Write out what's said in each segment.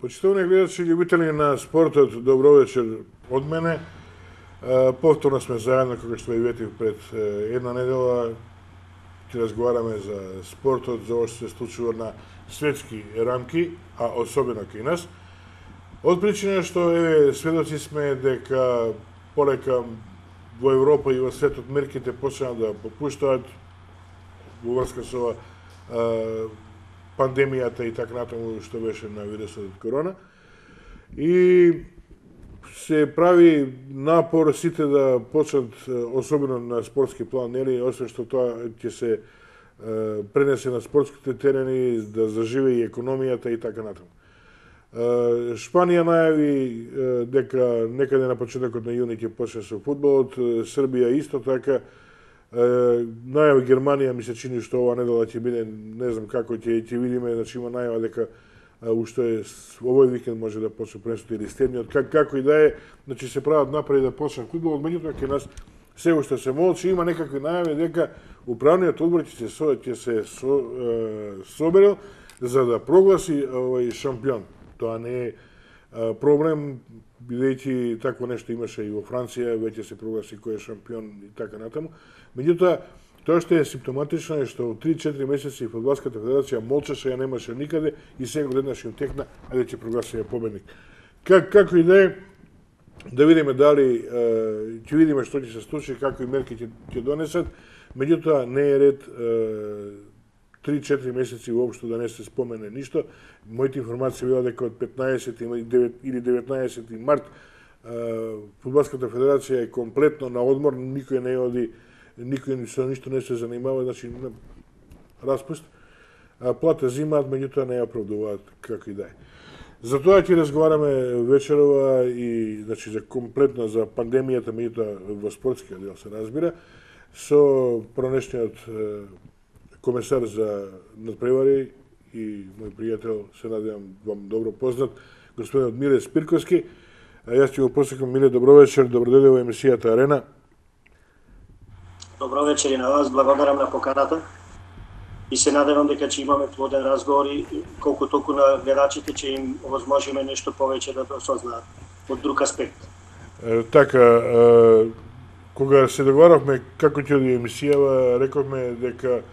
Почитувани гледачи и љубители на спортот, добро вечер од мене. Повторно сме заедно, како што ви ветив пред една недела. Ќе разговараме за спортот, за ова што се случува на светски рамки, а особено кај нас. Од причина што сведоци сме дека полека во Европа и во светот мерките почнаа да попуштаат во врска со пандемијата и така натаму што беше на вирусот корона. И се прави напор сите да почнат, особено на спортски план, нели, освен што тоа ќе се пренесе на спортските терени, да заживе и економијата и така натаму. Шпанија најави дека некаде на почетокот на јуни ќе почне со фудбалот, Србија исто така. Најава Германија ми се чини што ова недела ќе биде, не знам како ќе видиме, значи има најава дека уште овој викенд може да почне пренесото или следниот, како и да е, значи се прават напреди да почне фудбалот, меѓутоа кај нас се уште се молчи, има некакви најави дека управниот одбор ќе се соберел за да прогласи овој шампион. Тоа не е проблем, бидејќи такво нешто имаше и во Франција, веќе се прогласи кој е шампион и така натаму. Меѓутоа, тоа што е симптоматично е што 3-4 месеци Фудбалската федерација молчеше, ја немаше никаде и сега одеднаш им текна, ајде ќе прогласи ја победник. Како и да е, да видиме дали ќе видиме што ќе се случи, какви мерки ќе донесат, меѓутоа не е ред 3-4 месеци воопшто да не се спомене ништо. Моите информации била дека од 15 или 19 март Фудбалската федерација е комплетно на одмор, никој не оди, никој со ништо не се занимава, значи распуст. Плата зимаат, меѓутоа не ја оправдуваат како и да е. Затоа ќе разговараме вечерова и значи за комплетно за пандемијата, меѓутоа во спортскиот дел се разбира, со пронешниот комесар за надпревари и мој пријател, се надевам вам добро познат, господинот Миле Спирковски. Јас ќе го посекам. Миле, добро вечер, добродојде во емисијата Арена. Добро вечер и на вас, благодарам на поканата и се надевам дека ќе имаме плоден разговор и колку толку на гледачите ќе им овозможиме нешто повеќе да осознаат од друг аспект. Така, кога се договаравме како ќе оди емисијава, рековме дека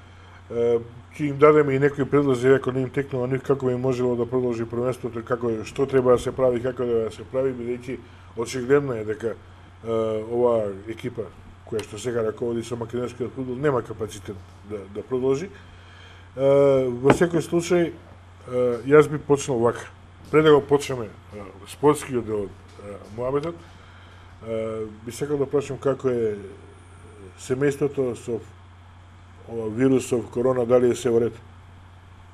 ќе им дадеме и некои предлози, ако не им текнува нив, како би можело да продолжи првенството, што треба да се прави, како да се прави, бидејќи очигледно е дека оваа екипа која што сега раководи со македонскиот фудбал нема капацитет да продолжи. Во секој случај, јас би почнал вака. Пред да го почнеме спортскиот дел од муабетот, би сакал да прашам како е семејството со вирусов корона, дали е се во ред?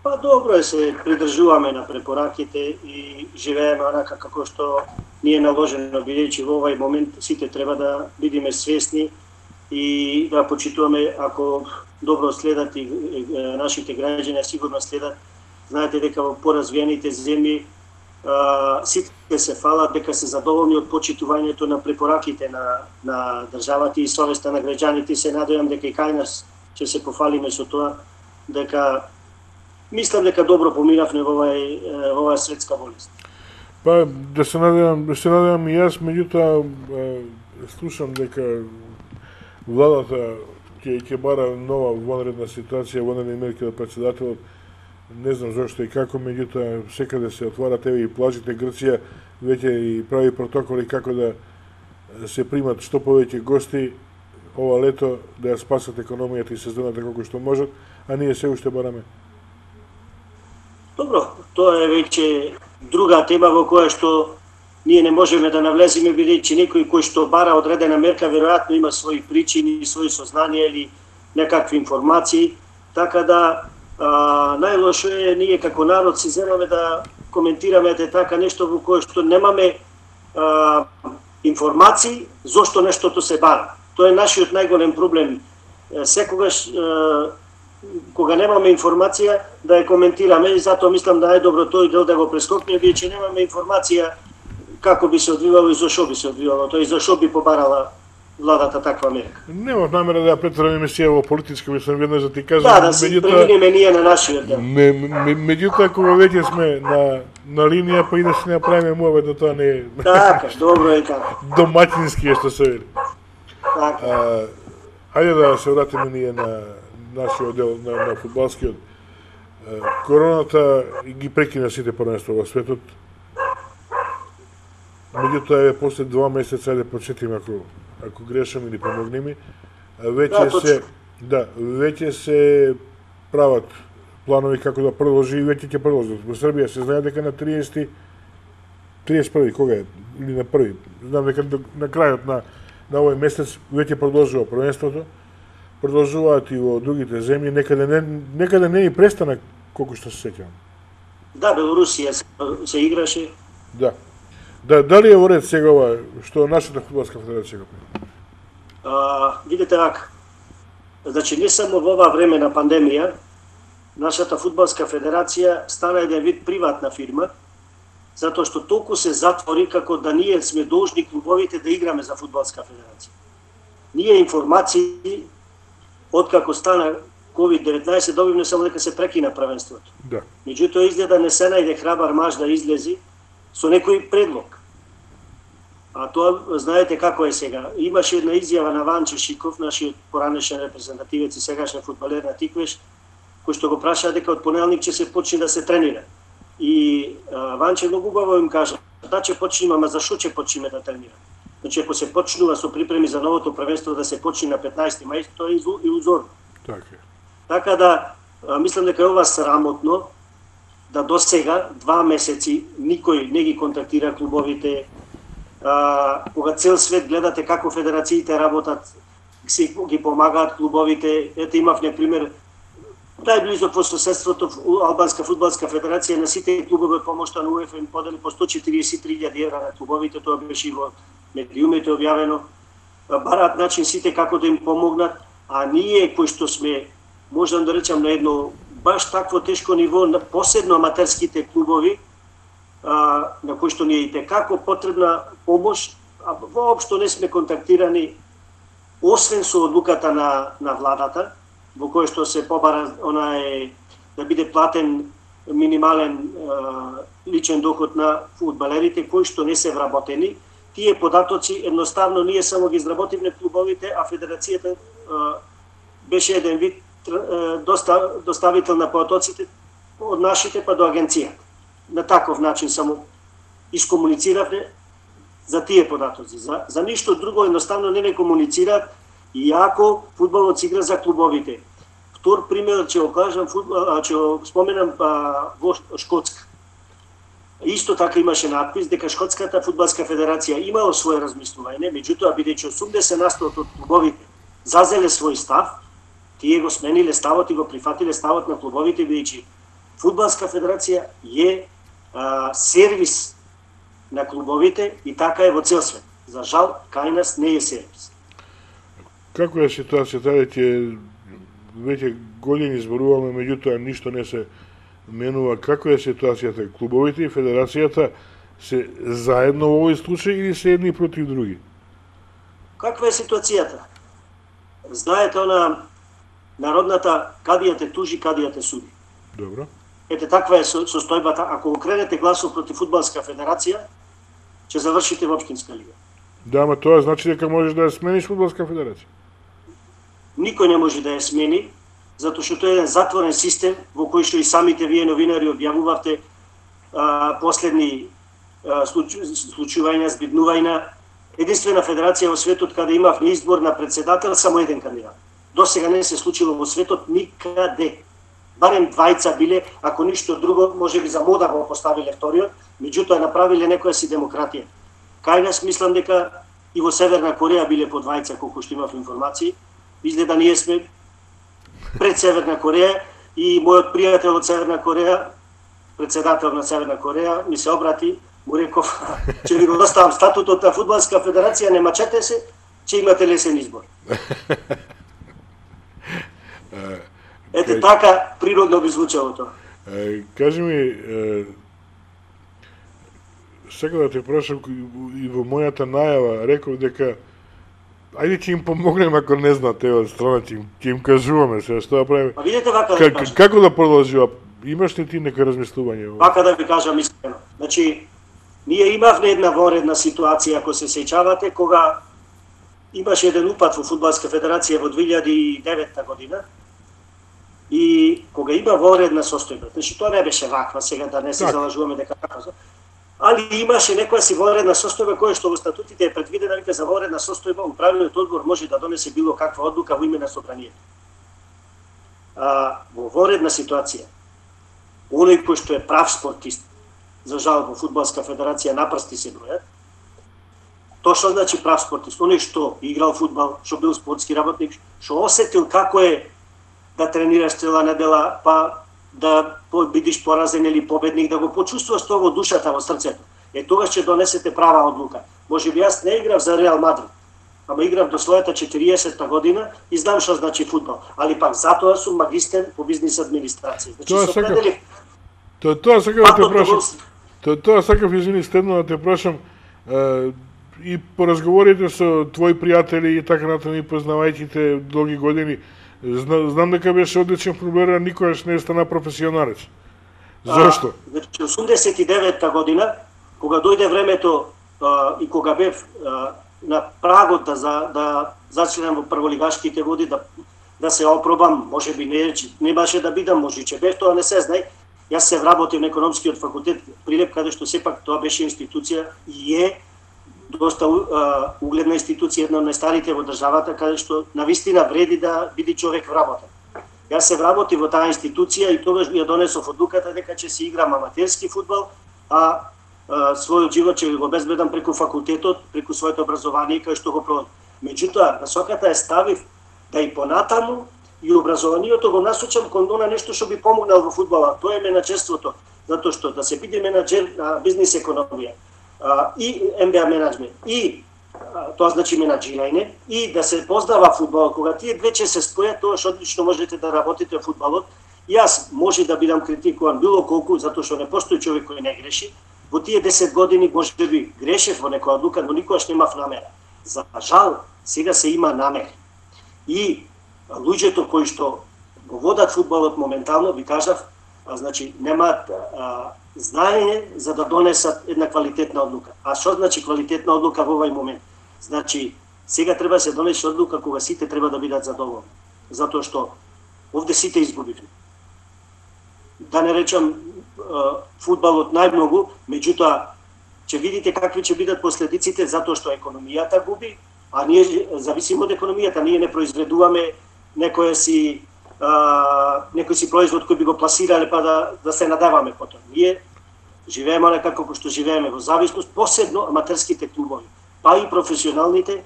Па добро е, се придржуваме на препораките и живееме онака како што ни е наложено, бидејќи во овој момент сите треба да бидеме свесни и да почитуваме, ако добро следат и нашите граѓани сигурно следат. Знаете дека во поразвиените земји сите се фалат дека се задоволни од почитувањето на препораките на државата и совеста на граѓаните. Се надевам дека и кај нас ќе се пофалиме со тоа, дека мислам дека добро поминавме во оваа светска болест. Па да се надевам и јас, меѓутоа слушам дека владата ќе бара нова вонредна ситуација, вонредни мерки од претседателот. Не знам зошто и како, меѓутоа секаде се отварат, еве и плажите Грција веќе и прави протоколи како да се примат што повеќе гости ова лето, да ја спасат економијата и сезоната колку што можат, а ние се уште бараме. Добро, тоа е веќе друга тема во која што ние не можеме да навлеземе, бидејќи некој кој што бара одредена мерка веројатно има своји причини, своји сознанија или некакви информации, така да најлошо е ние како народ си земаме да коментираме така нешто во кое што немаме информации зошто нештото се бара. Тоа е нашиот најголем проблем. Секогаш кога немаме информација да ја коментираме и затоа мислам да најдобро тој дел да го прескокне, бидејќи немаме информација како би се одвивало и зашо би се одвивало, тоа и зашо би побарала владата таква мерка. Немав намера да ја претварам емисија во политичка, мислам веднаш да ти кажам. Да се преминеме ние на нашиот дел. Меѓутоа, кога веќе сме на линија, па и да се направиме муавет, да тоа не е... Така, добро е така. Доматински е што се вели. Така. Хајде да се вратиме ние на нашиот дел, на фудбалскиот. Короната ги прекина сите првенства во светот. Меѓутоа, после 2 месеца, да почетиме, ако грешам или помогни ми, веќе се прават планови како да продолжи и веќе ќе продолжат. Во Србија се знае дека на 31 кога е? Или на 1. Знам дека на крајот на овој месец веќе продолжува првенството. Продолжуваат и во другите земји, некаде не и престана, колку што се сеќавам. Да, Белорусија се играше. Да. Дали е во ред сега ова што нашата фудбалска федерација го прави? Видите вака. Значи, не само во ова време на пандемија, нашата фудбалска федерација стана еден вид приватна фирма, затоа што толку се затвори како да ние сме должни клубовите да играме за фудбалска федерација. Ние информации откако стана COVID-19 добивме само дека се прекина првенството. Да. Меѓутоа изгледа не се најде храбар маж да излези со некој предлог. А тоа знаете како е сега. Имаше една изјава на Ванче Шиков, нашиот поранешен репрезентативец и сегашен фудбалер на Тиквеш, кој што го праша дека од понеделник ќе се почне да се тренира. И Ванче многу убаво им кажа, да ќе почнеме, ама зашо ќе почнеме да тренираме? Значи, ако се почнува со припреми за новото првенство да се почне на 15 мај, тоа е илузорно. Така да, мислам дека е ова срамотно, да до сега 2 месеци никој не ги контактира клубовите, кога цел свет гледате како федерациите работат, си ги помагаат клубовите. Ете, имав, например, најблизо по соседството Албанска фудбалска федерација на сите клубови од помошта на УЕФА им подели по 143.000 евра на клубовите, тоа беше во медиумите објавено. Бараат начин сите како да им помогнат, а ние кои што сме, можам да речам, на едно баш такво тешко ниво, посебно аматерските клубови, на кои што ни е и текако потребна помош, а воопшто не сме контактирани, освен со одлуката на владата, во кој што се побара да биде платен минимален личен доход на фудбалерите кои што не се вработени. Тие податоци едноставно ние само ги изработивме клубовите, а федерацијата беше еден вид доставител на податоците од нашите па до агенцијата. На таков начин само искомунициравме за тие податоци. За ништо друго едноставно не комуницираат, иако фудбалот се игра за клубовите. Втор пример ќе го кажам, ќе го споменам во Шкотска. Исто така имаше надпис дека Шкотската фудбалска федерација имала свое размислување, меѓутоа бидејќи 80% од клубовите зазеле свој став, тие го смениле ставот и го прифатиле ставот на клубовите, бидејќи фудбалска федерација е сервис на клубовите и така е во цел свет. За жал, кај нас не е сервис. Како е ситуацијата? Веќе години зборуваме, меѓутоа ништо не се менува. Како е ситуацијата? Клубовите и федерацијата се заедно во овој случај или се едни против други? Каква е ситуацијата? Знаете она народната кадија те тужи, кадија те суди. Добро. Ете, таква е состојбата. Ако го кrenете гласов против фудбалска федерација, ќе завршите во општинска лига. Да, ама тоа значи дека можеш да ја смениш фудбалска федерација? Никој не може да ја смени, затоа што тоа е еден затворен систем во кој што и самите вие новинари објавувавте последни случувања, збиднувања. Единствена федерација во светот каде имав избор на председател само еден кандидат. До сега не се случило во светот никаде. Барем двајца биле, ако ништо друго, може би за мода го поставиле вториот, меѓутоа направиле некоја си демократија. Кај нас мислам дека и во Северна Кореја биле по двајца, колку што имав информации. Изгледа ние сме пред Северна Кореја и мојот пријател од Северна Кореја, председател на Северна Кореја, ми се обрати, му реков, ќе ви го доставам статутот на фудбалска федерација, не мачете се, ќе имате лесен избор. Ете така природно би звучало тоа. Кажи ми, сега да те прашам, и во мојата најава реков дека ајде ќе им помогнеме ако не знаат од страна, ќе им кажуваме се што да правиме. Па видете вака да кажам. Како да продолжува? Имаш ли ти нека размислување? Вака да ви кажам искрено. Значи, ние имавме една вонредна ситуација, ако се сеќавате, кога имаше еден упад во Фудбалска федерација во 2009 година и кога има вонредна состојба. Значи, тоа не беше ваква, сега да не се залажуваме дека како. Али имаше некоја си вонредна состојба која што во статутите е предвидена вика за вонредна состојба, управниот одбор може да донесе било каква одлука во име на собранието. Во вонредна ситуација, оној кој што е прав спортист, за жал во Фудбалска федерација на прсти се бројат. Тоа што значи прав спортист? Оној што играл фудбал, што бил спортски работник, што осетил како е да тренираш цела недела, па да бидиш поразен или победник, да го почувствуваш тоа во душата, во срцето. Тогаш ќе донесете права одлука. Можеби јас не играв за Реал Мадрид, ама играв до својата 40-та година и знам што значи фудбал. Али пак затоа сум магистер по бизнис администрација. Значи, тоа сакав да те прашам. Тоа сакав, извини, стедно да те прашам, и по разговорите со твои пријатели и така натаму, познавајќи те долги години, знам дека беше одличен фудбалер, никогаш не стана професионалец. Зошто? Значи, 89-та година, кога дојде времето и кога бев на прагот да зачленам во прволигашките води, да се опробам, можеби немаше да бидам, може че бев, тоа не се знај. Јас се вработив на економскиот факултет Прилеп, каде што сепак тоа беше институција и е доста угледна институција, една од најстарите во државата, каде што навистина вреди да биде човек вработен. Јас се вработив во таа институција и тогаш ја донесов одлуката дека ќе се играм аматерски фудбал, а својот живот ќе го обезбедам преку факултетот, преку своето образование кај што го проводам. Меѓутоа, насоката ја ставив да и понатаму и образованието го насочам кон она нешто што би помогнал во фудбалот. Тоа е менаџерството, затоа што да се биде менаџер на бизнис економија и МБА менеджмент и тоа значи менаџирање и да се познава фудбалот. Кога тие две ќе се спојат, тоа што одлично можете да работите во фудбалот. Јас може да бидам критикуван било колку, затоа што не постои човек кој не греши. Во тие 10 години можеби грешев во некоја одлука, но никогаш немав намера. За жал, сега се има намера. И луѓето кои што го водат фудбалот моментално, ви кажав, значи немаат знаење за да донесат една квалитетна одлука. А што значи квалитетна одлука во овој момент? Значи, сега треба да се донесе одлука кога сите треба да бидат задоволни. Затоа што овде сите изгубивме. Да не речам фудбалот најмногу, меѓутоа ќе видите какви ќе бидат последиците затоа што економијата губи, а ние зависимо од економијата, ние не произведуваме некој си производ кој би го пласирале па да се надеваме потоа. Ние живееме некако како што живееме во зависност, посебно аматерските клубови, па и професионалните,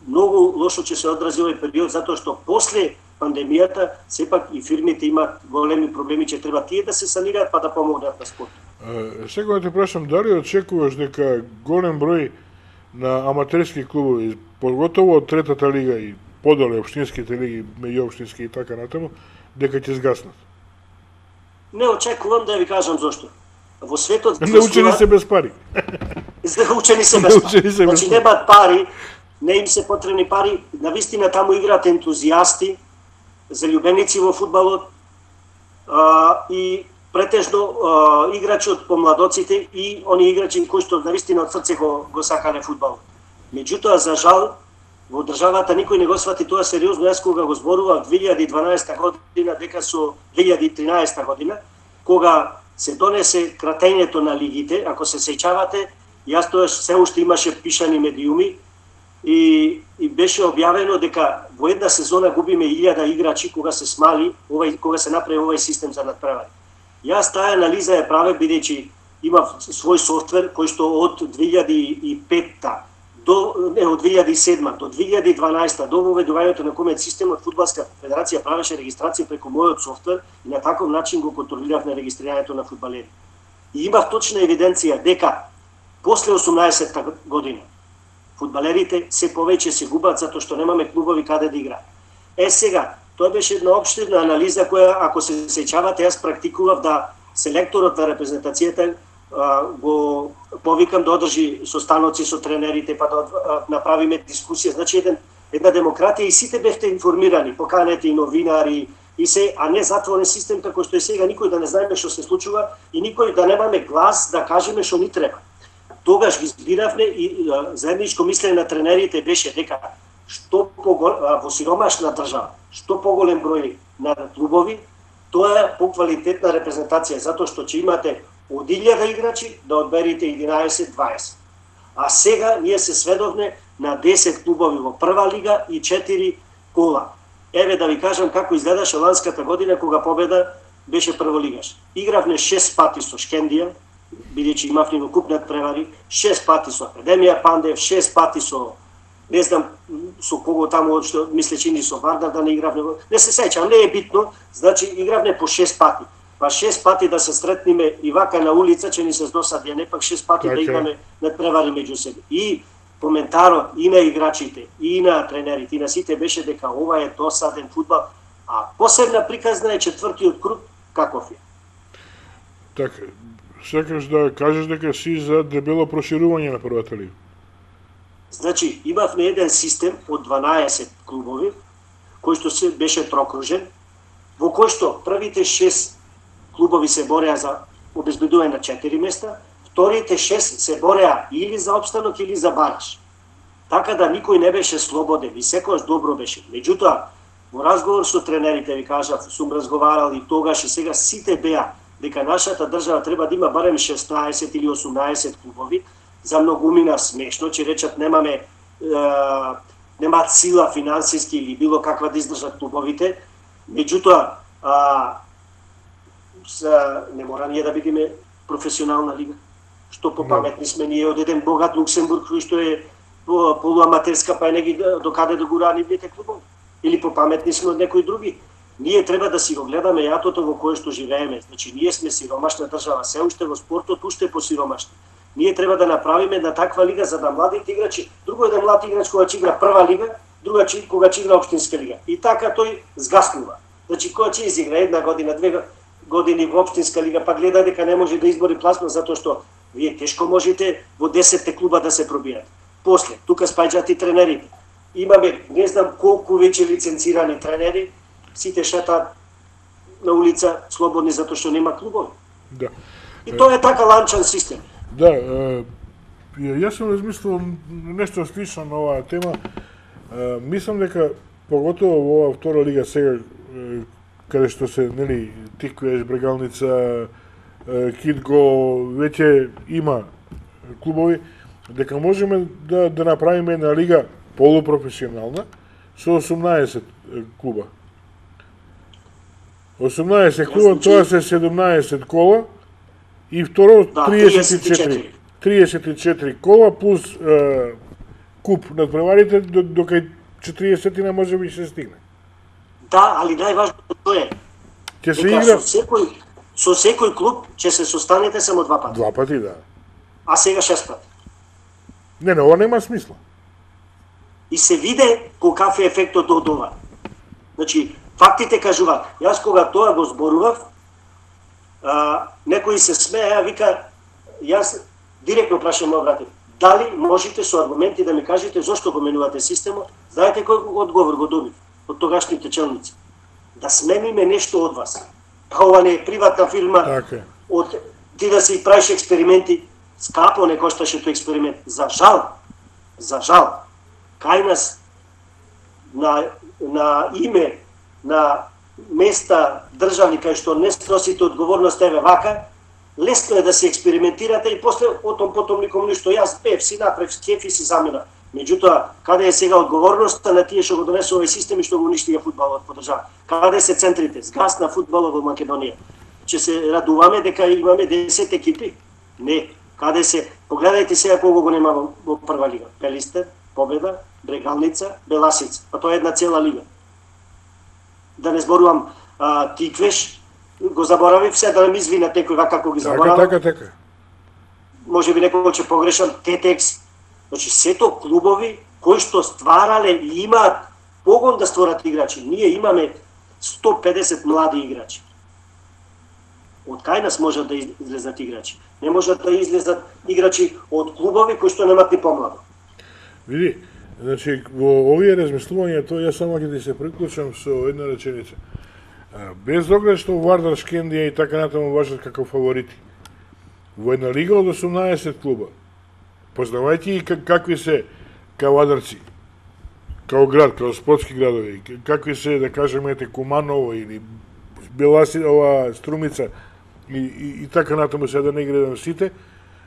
многу лошо ќе се одрази овој период затоа што после пандемијата сепак и фирмите имаат големи проблеми, че треба тие да се санираат па да помогнат на спортот. Сега те прашам, дали очекуваш дека голем број на аматерски клубови, поготово од третата лига и подоле општинските лиги, меѓуопштински и така натаму, дека ќе згаснат? Не очекувам, да ви кажам зошто. Во светот научени се без пари. Научени се без пари. Значи немаат пари, не им се потребни пари, навистина таму играат ентузијасти, залюбеници во фудбалот и претежно играчи од помладоците и они играчи кои што навистина од срце го сакале фудбалот. Меѓутоа, за жал, во државата никој не го свати тоа сериозно. Јас кога го зборував 2012 година, дека со 2013 година, кога се донесе кратењето на лигите, ако се сеќавате, јас тоа се уште имаше пишани медиуми и беше објавено дека во една сезона губиме 1000 играчи кога се смали, кога се направи овој систем за надпревари. Јас таа анализа ја правев бидејќи имав свој софтвер кој што од 2005 од 2007 до 2012 до воведувањето на комет системот, Фудбалска федерација правеше регистрација преку мојот софтвер и на таков начин го контролирав на регистрирањето на фудбалери. И имав точна евиденција дека после 18-та година фудбалерите се повеќе се губат затоа што немаме клубови каде да играат. Сега, тоа беше една општирна анализа која, ако се сеќавате, јас практикував да селекторот на репрезентацијата го повикам да одржи состаноци со тренерите, па да направиме дискусија. Значи една демократија и сите бевте информирани, поканете и новинари, и се, а не затворен систем како што е сега, никој да не знаеме што се случува и никој да немаме глас да кажеме што ни треба. Тогаш ги збиравме и заедничко мислење на тренерите беше дека во сиромашна држава, што поголем број на клубови, тоа е поквалитетна репрезентација, затоа што ќе имате од 1000 играчи да одберите 11-20. А сега ние се сведовме на 10 клубови во прва лига и 4 кола. Еве да ви кажам како изгледаше ланската година кога победа беше прволигаш. Игравме 6 пати со Шкендија, бидејќи имавме во куп надпревари, 6 пати со Академија Пандев, 6 пати со не знам со кого таму, што мислечи ни со Вардар да не игравме. Не се сеќам, не е битно, значи игравме по 6 пати. Па 6 пати да се сретниме и вака на улица, че ни се досади, не пак 6 пати да играме надпревари меѓу себе. И коментарот и на играчите, и на тренерите, и на сите беше дека ова е досаден фудбал, а посебна приказна е четвртиот круг каков е. Така, сакаш да кажеш дека си за дебело проширување на првата лига? Значи, имавме еден систем од 12 клубови, кој што се беше трокружен, во кој што првите 6 клубови се бореа за обезбедување на 4 места, вторите 6 се бореа или за опстанок или за бараж. Така да никој не беше слободен и секојаш добро беше. Меѓутоа, во разговор со тренерите ви кажав, сум разговарал и тогаш и сега сите беа дека нашата држава треба да има барем 16 или 18 клубови. За многумина смешно, че речат немаат сила финансиски или било каква да издржат клубовите. Меѓутоа, не мора ние да бидеме професионална лига. Што попаметни сме ние од еден богат Луксембург, кој што е полуаматерска, па не ги докаде да гура нивните клубови. Или попаметни сме од некои други. Ние треба да си го гледаме јатото во кое што живееме. Значи, ние сме сиромашна држава, се уште во спортот, уште посиромашни. Ние треба да направиме на таква лига за да младите играчи, друго е да млад играч кога ќе игра прва лига, друга кога ќе игра општинска лига. И така тој згаснува. Значи, кога ќе изигра една година, 2 години во општинска лига, па гледа дека не може да избори пласман, затоа што вие тешко можете во 10 клуба да се пробијате. После, тука спаѓаат и тренерите. Имаме, не знам колку веќе лиценцирани тренери, сите шетаат на улица слободни затоа што нема клубови. Да. И тоа е така ланчан систем. Да, јас сум размислил нешто слично на оваа тема. Мислам дека поготово во оваа втора лига сега, каде што се, нели, Тиквеш, Брегалница, Китго, веќе има клубови, дека можеме да направиме една лига полупрофесионална со 18 клуба. 18 клуба, тоа се 17 кола, и второ, 34 кола плюс куп надпреварите, до кај 40 не може би се стигне. Да, али најважното е ќе се игра со секој клуб ќе се состанете само 2 пати. 2 пати, да. А сега 6 пати. Не, ова нема смисла. И се виде колкав е ефектот од ова. Значи, фактите кажуваат. Јас кога тоа го зборував, некои се смеја, вика, јас директно прашам мој братев, дали можете со аргументи да ми кажете зошто го менувате системот? Знаете кој одговор го добив од тогашните челници? Да смениме нешто од вас. Па ова не е приватна фирма, од ти да си правиш експерименти, скапо не кошташе тој експеримент. За жал, кај нас на име, на места државни кај што не сносите одговорност, еве вака, лесно е да се експериментирате и после потом никому ништо. Јас пев си направив кеф и си замина. Меѓутоа, каде е сега одговорноста на тие што го донесува овој систем и што го уништија фудбалот по држава? Каде се центрите? Згасна фудбалот во Македонија. Ќе се радуваме дека имаме 10 екипи? Не. Каде се? Погледајте сега кого го нема во прва лига. Пелистер, Победа, Брегалница, Беласица. Па тоа е една цела лига. Да не зборувам Тиквеш, го заборавив, се да не ми извинат некој вака како ги заборавам. Така. Може би некој ќе погрешам, Тетекс. Значи, сето клубови кои што стварале и имаат погон да створат играчи. Ние имаме 150 млади играчи. Од кај нас можат да излезат играчи? Не можат да излезат играчи од клубови кои што немат ни помладо. Види, значи, во овие размислувања, тоа ја само ќе ти се приклучам со една реченица. Без оглед што Вардар, Шкендија и така натаму важат како фаворити. Во една лига од 18 клуба, познавајќи и какви се кавадарци, као град, као спортски градови, какви се, да кажеме, Куманово или Беласинова, Струмица и така натаму, се да не гредам сите,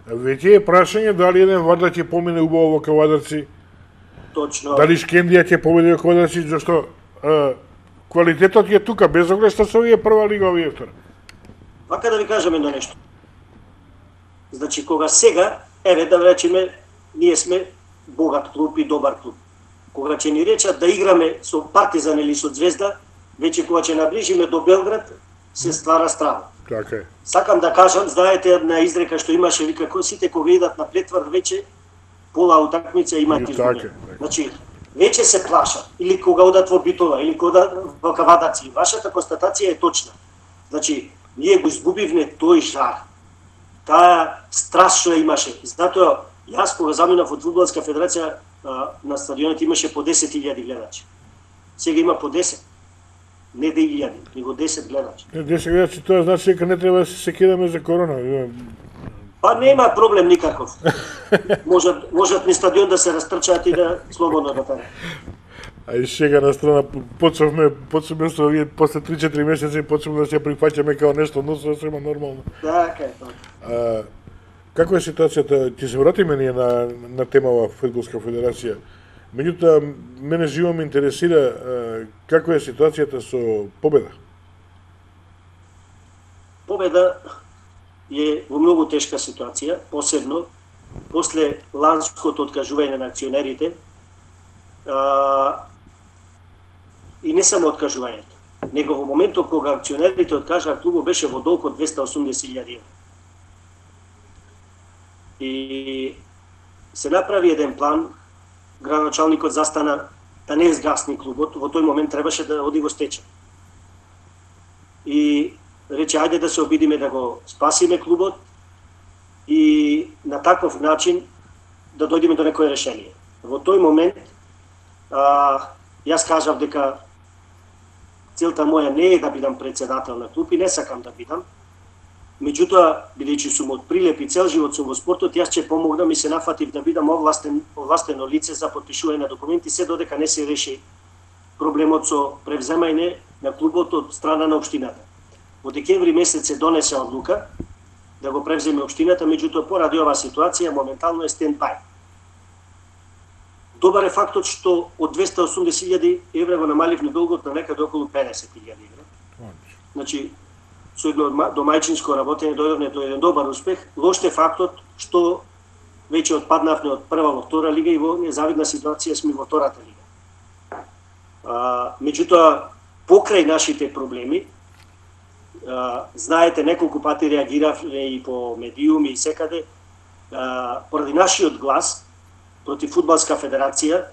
веќе е прашање дали еден Вардар ќе помине убаво во кавадарци, Точно. дали Шкендија ќе победи во кавадарци, зашто квалитетот е тука, без оглед што се овие прва лига, овие втора. Вака да ви кажам едно нешто. Значи, кога сега, еве да речеме, ние сме богат клуб и добар клуб. Кога ќе ни речат да играме со Партизан или со Звезда, веќе кога ќе наближиме до Белград, се ствара страва. Така е. Сакам да кажам, знаете една изрека што имаше, вика, сите кога идат на претвор, веќе пола утакмица имаат изгубени. Значи, веќе се плашат, или кога одат во Битола, или кога во Кавадаци. Вашата констатација е точна. Значи, ние го изгубивме тој жар, таа страст што имаше. Затоа, јас кога заминав од Фудбалска федерација, на стадионот имаше по 10.000 гледачи. Сега има по 10. Не 1000, него 10 гледачи. 10 гледачи, тоа значи дека не треба да се секираме за корона. Па нема проблем никаков. Можат ни стадион да се растрчаат и да слободно да тара. А и сега на страна почнавме со овие после 3-4 месеци почнавме да се прифаќаме као нешто, но сосема нормално. Така е тоа. Како е ситуацијата? Ќе се вратиме ние на темава Фудбалска федерација. Меѓутоа, мене живо ме интересира каква е ситуацијата со Победа. Победа е во многу тешка ситуација, посебно после ланското откажување на акционерите, и не само откажувањето, него во моментот кога акционерите откажаа, клубот беше во долг од 280.000 евра. И се направи еден план, градоначалникот застана да не згасни клубот, во тој момент требаше да оди го стече. И рече, ајде да се обидиме да го спасиме клубот и на таков начин да дојдеме до некое решение. Во тој момент, јас кажав дека целта моја не е да бидам председател на клуб и не сакам да бидам. Меѓутоа, бидејќи сум од Прилеп и цел живот сум во спортот, јас ќе помогнам и се нафатив да бидам овластено лице за потпишување на документи, се додека не се реши проблемот со превземање на клубот од страна на општината. Во декември месец се донесе одлука да го превземе општината, меѓутоа поради оваа ситуација моментално е стенд-бај. Добар е фактот што од 280.000 евра го намаливме долгот на некаде околу 50.000 евра. Значи, со едно домајчинско работење дојдовме до еден добар успех. Лош е фактот што веќе отпаднавме од прва во втора лига и во незавидна ситуација сме во втората лига. Меѓутоа, покрај нашите проблеми, знаете, неколку пати реагиравме и по медиуми и секаде, поради нашиот глас против Фудбалска федерација,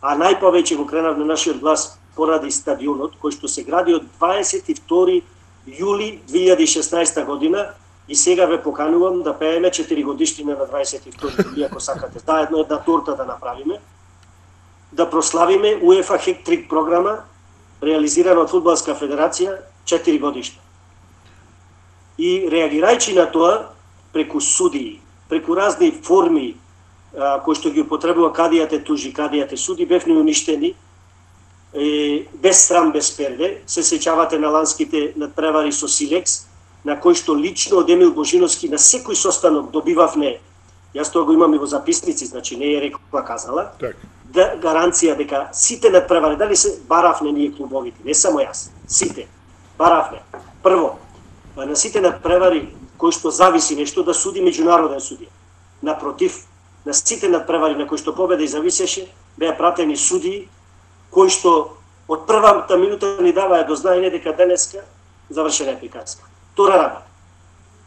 а најповеќе го кренавме нашиот глас поради стадионот, кој што се гради од 22 јули 2016 година и сега ве поканувам да пееме 4 годишнина на 22 јули, ако сакате, заедно една торта да направиме, да прославиме УЕФА Хек-трик програма, реализирана од Фудбалска федерација 4 годишна. И реагирајќи на тоа, преку судии, преку разни форми кои што ги употребува кадијате тужи, кадијате суди, бевме уништени, без срам, без перде. Се сеќавате на ланските надпревари со Силекс, на кој што лично од Емил Божиновски на секој состанок добивавме, јас тоа го имам и во записници, значи не е рекла казала, да гаранција дека сите надпревари, дали се баравне ние клубовите, не само јас, сите, баравне. Прво, на сите надпревари кои што зависи нешто да суди меѓународен судија. Напротив, на сите надпревари на кои што победа и зависеше, беа пратени судии кои што од првата минута ни даваа до знаење дека денеска завршена е приказка. Втора работа.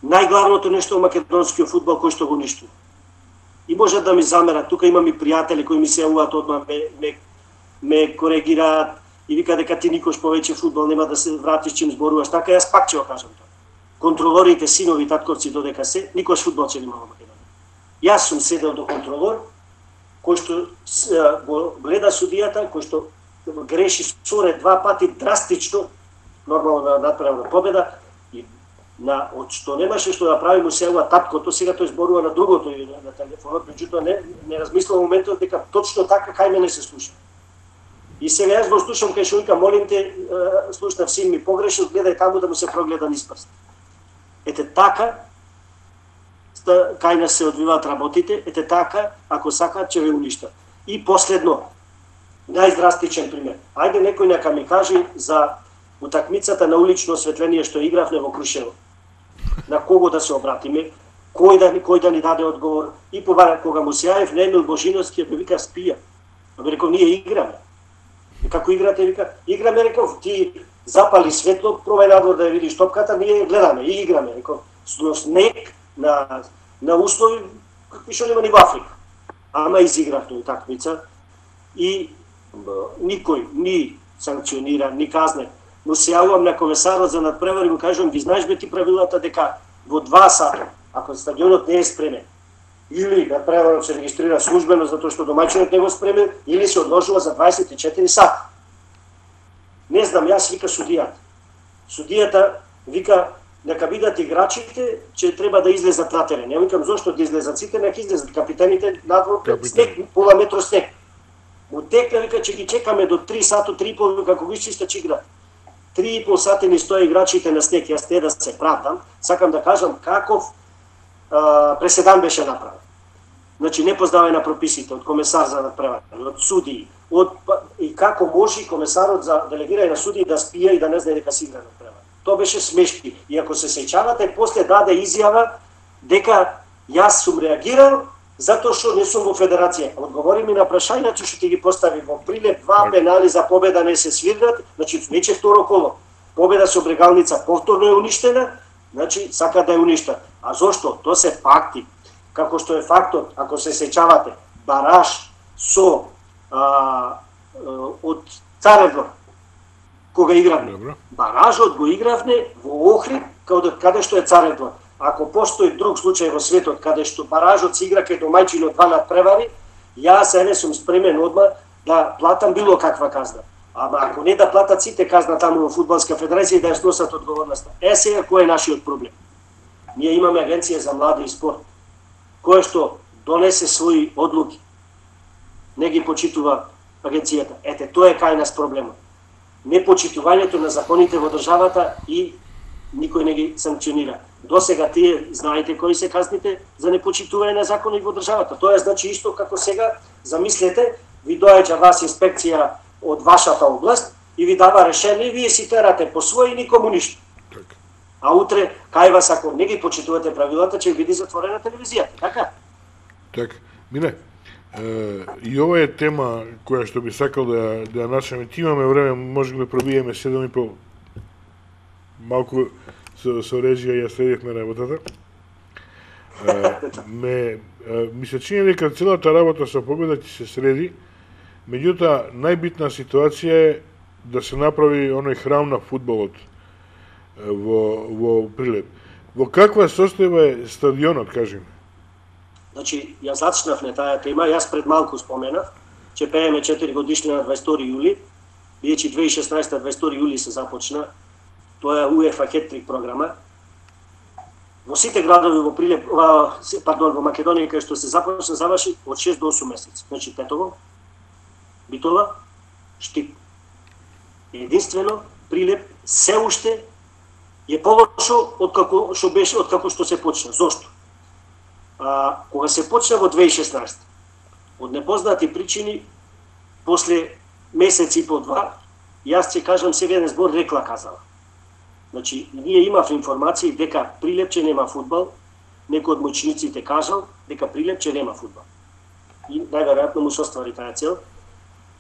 Најглавното нешто во македонскиот фудбал кој што го уништува. И може да ми замерат, тука имам и пријатели кои ми се јавуваат одма ме коригираат и вика дека ти никош повеќе фудбал нема да се вратиш чим зборуваш, така јас пак ќе го кажам тоа. контролорите, синови, татковци додека се, никош фудбал ќе нема во Македонија. Јас сум седел до контролор, кој што го гледа судијата, кој што греши соре 2 пати драстично, нормално да направи победа, и од што немаше што да прави му се ова таткото, сега тој зборува на другото и на телефонот, меѓутоа не размислува моментот дека точно така кај мене се слуша. И сега јас го слушам кај што вика, молим те, слушнав син ми погрешил, гледај таму да му се прогледа низ прст. Ете така, кај нас се одвиваат работите, ете така, ако сакаат, ќе ве уништат. И последно, најдрастичен пример. Ајде некој нека ми каже за утакмицата на улично осветление што игравме во Крушево. На кого да се обратиме, кој да ни даде одговор. И кога му се јавив на Емил Божиновски, ме вика спија. Ме рекол, ние играме. И како играте, вика, играме, рекол, ти запали светло, пробај надвор да ја видиш топката, ние гледаме и играме. Рекол, снег на услови какви што нема ни во Африка. Ама изигравме утакмица и никој ни санкционира, ни казне. Но се јавувам на комесарот за надпревари и му кажувам, ги знаеш бе ти правилата дека во 2 сата, ако стадионот не е спремен, или надпреварот се регистрира службено затоа што домаќинот не го спремен, или се одложува за 24 сата. Не знам, јас вика судијата. Судијата вика нека бидат играчите, че треба да излезат на терен. Ја викам зошто да излезат сите, нека излезат капитаните надвор, снег, пола метро снег. Му текна, вика, че ги чекаме до 3 сата, 3,5, како го исчиста че игра. 3,5 сати ни стои играчите на снег, јас те да се правдам, сакам да кажам каков преседан беше направен. Значи, непознавање на прописите од комесар за надпревари, од судии, и како може комесарот за делегирање на судии да спија и да не знае дека си игра надпревари. Тоа беше смешки. И ако се сеќавате, после даде изјава дека јас сум реагирал затоа што не сум во федерација. Одговори ми на прашањето што ти ги постави во Прилеп, 2 пенали за победа не се свирнат, значи веќе второ коло. Победа со Брегалница повторно е уништена, значи сака да ја уништа. А зошто? Тоа се факти. Како што е фактот, ако се сеќавате, бараж со од Царевдор, кога игравме. Баражот го игравме во Охрид, каде што е Царевдор. Ако постои друг случај во светот каде што баражот се игра кај домаќинот 2 надпревари, јас не сум спремен одма да платам било каква казна. Ама ако не да платат сите казна таму во Фудбалска федерација и да ја сносат одговорноста. Сега кој е нашиот проблем? Ние имаме агенција за млади и спорт, која што донесе своји одлуки. Не ги почитува агенцијата. Ете, тоа е кај нас проблемот. Непочитувањето на законите во државата и никој не ги санкционира. Досега тие знаете кои се казните за непочитување на закони во државата. Тоа значи исто како сега, замислете, ви доаѓа вас инспекција од вашата област и ви дава решение, вие си терате по свој и никому ништо. А утре, кај вас, ако не ги почитувате правилата, ќе биде затворена телевизијата, така? Така. Мине, и ова е тема која што би сакал да ја начнеме. Ти имаме време, може да пробиеме 7,5. Малку со режија ја следивме работата. Ми се чини дека целата работа со победа ќе се среди, меѓутоа најбитна ситуација е да се направи оној храм на фудбалот во Прилеп. Во каква состојба е стадионот, кажеме? Значи, јас зачнав на таа тема, јас пред малку споменав, че пееме 4 годишнина на 22 јули, бидејќи 2016 22 јули се започна, тоа е УЕФА хет-трик програма. Во сите градови во Прилеп, во Македонија кај што се започна, заврши од 6 до 8 месеци. Значи Тетово, Битола, Штип. Единствено Прилеп се уште е полошо од како што се почна. Зошто? Кога се почна во 2016, од непознати причини, после месец и по 2, јас ќе кажам сега еден збор рекла казала. Значи, ние имав информации дека Прилепче нема фудбал, некој од моćниците кажал дека Прилепче нема фудбал. И најверојатно му се оствари таа цел.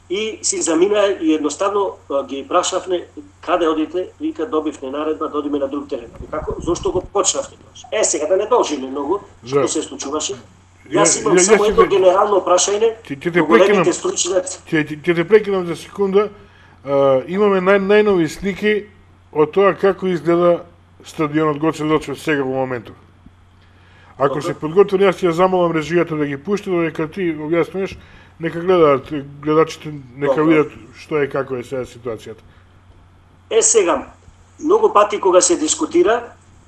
И си замина и едноставно ги прашавме каде одите, вика добивме наредба да одиме на друг терен. Како? Зошто го почнавте тоа? Сега да не должиме многу, што се случуваше. Јас имам само едно генерално прашање до големите стручњаци. Ќе те прекинам за секунда. Имаме најнови слики од тоа како изгледа стадионот Гоце Делчев сега во моментов. Ако се подготвен, јас ќе ја замолам режијата да ги пушти, додека ти објаснуваш, нека гледаат гледачите, нека видат што е, како е сега ситуацијата. Сега, многу пати кога се дискутира,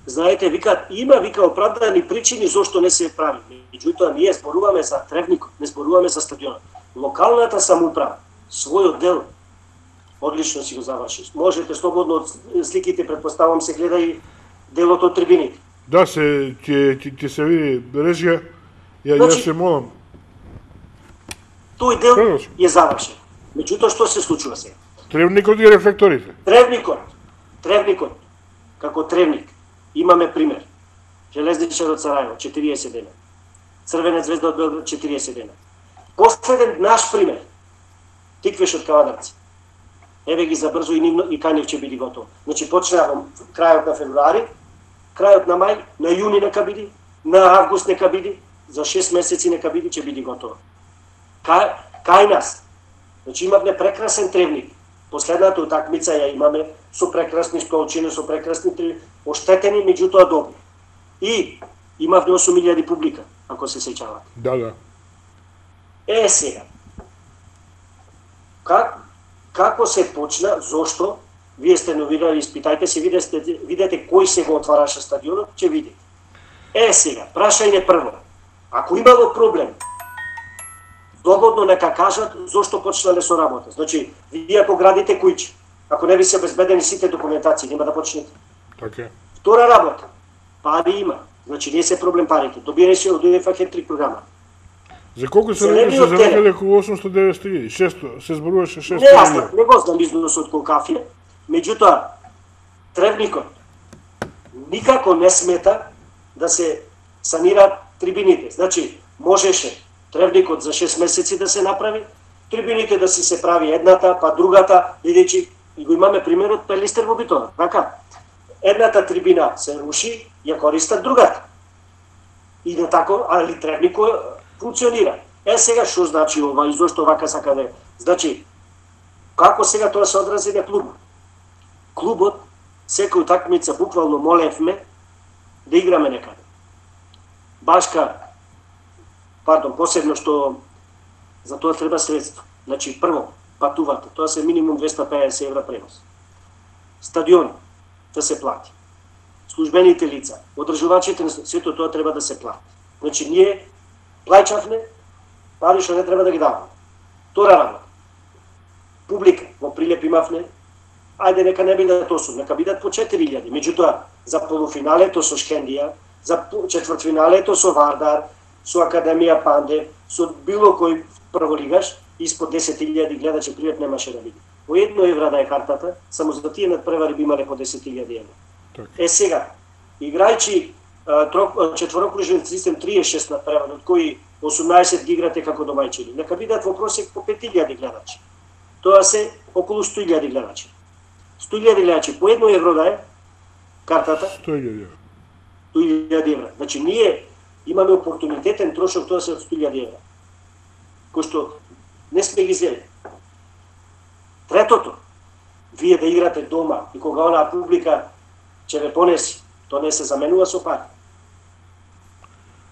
знаете, има оправдани причини зошто не се прави. Меѓутоа, ние зборуваме за Тревникот, не зборуваме за стадионот. Локалната самоуправа, својот дел, одлично си го заврши. Можете слободно од сликите, предпоставам, се гледа и делот од трибините. Да, ќе се види режија, јас се молам. Тој дел е завршен. Меѓутоа, што се случува сега? Тревникот и рефлекторите. Тревникот, како Тревник, имаме пример. Железничар од Сарајево, 40 дена. Црвена звезда од Белград, 40 дена. Последен наш пример, Тиквеш од Кавадарци. Еве ги забрзо и Канев ќе биде готов. Значи, почнаа во крајот на февруари, крајот на мај, на јуни нека биде, на август нека биде, за 6 месеци нека биде, ќе биде готово. Кај нас. Значи, имаме прекрасен Тревник. Последната утакмица ја имаме со прекрасни столчини, со прекрасни оштетени, меѓутоа добри. И имавме 8.000 публика, ако се сеќавате. Да. Сега. Како се почна, зошто? Вие сте новинari, испитајте се, видете кој се го отвараше стадионот, ќе видите. Сега, прашање прво. Ако имало проблем, слободно нека кажат зошто почнале со работа. Значи, вие ако градите куќи, ако не би се обезбедени сите документации, нема да почнете. Така. Втора работа, пари има. Значи, не се проблем парите. Добиени се од УЕФА хет-трик програма. За колку се реди се завршиле околу 800-900 600, се зборуваше 600. Не, јас не го знам износот колку кафе, меѓутоа, Тревникот никако не смета да се санираат трибините. Значи, можеше Тревникот за 6 месеци да се направи, трибините да си се прави едната, па другата, бидејќи и го имаме примерот Пелистер во Битола, така? Едната трибина се руши, ја користат другата. И на тако, али Тревникот функционира. Сега што значи ова и зошто вака сака да. Значи, како сега тоа се одрази на клубот? Клубот секој утакмица буквално молевме да играме некаде. Посебно што за тоа треба средство. Значи, прво, патувате, тоа се минимум 250 евра пренос. Стадион да се плати. Службените лица, одржувачите, сето тоа треба да се плати. Значи, ние плаќавме, пари што не треба да ги даваме. Втора работа. Публика, во Прилеп имавме, ајде нека не бидат 8, нека бидат по 4.000. Меѓутоа, за полуфиналето со Шкендија, за четвртфиналето со Вардар, со Академија Панде, со било кој прволигаш, испод 10.000 гледачи Прилеп немаше да биде. По 1 евра да е картата, само за тие надпревари би имале по 10.000 евра. Сега, играјќи четворокружен систем 36 надпревари, од кои 18 ги играте како домајчини, нека бидат во просек по 5.000 гледачи. Тоа се околу 100.000 гледачи. 100.000 гледачи по 1 евро да е картата. 100.000 евра. Значи, ние имаме опортунитетен трошок, тоа се од 100.000 евра. Кој што не сме ги зели. Третото, вие да играте дома и кога онаа публика ќе ве понеси, тоа не се заменува со пари.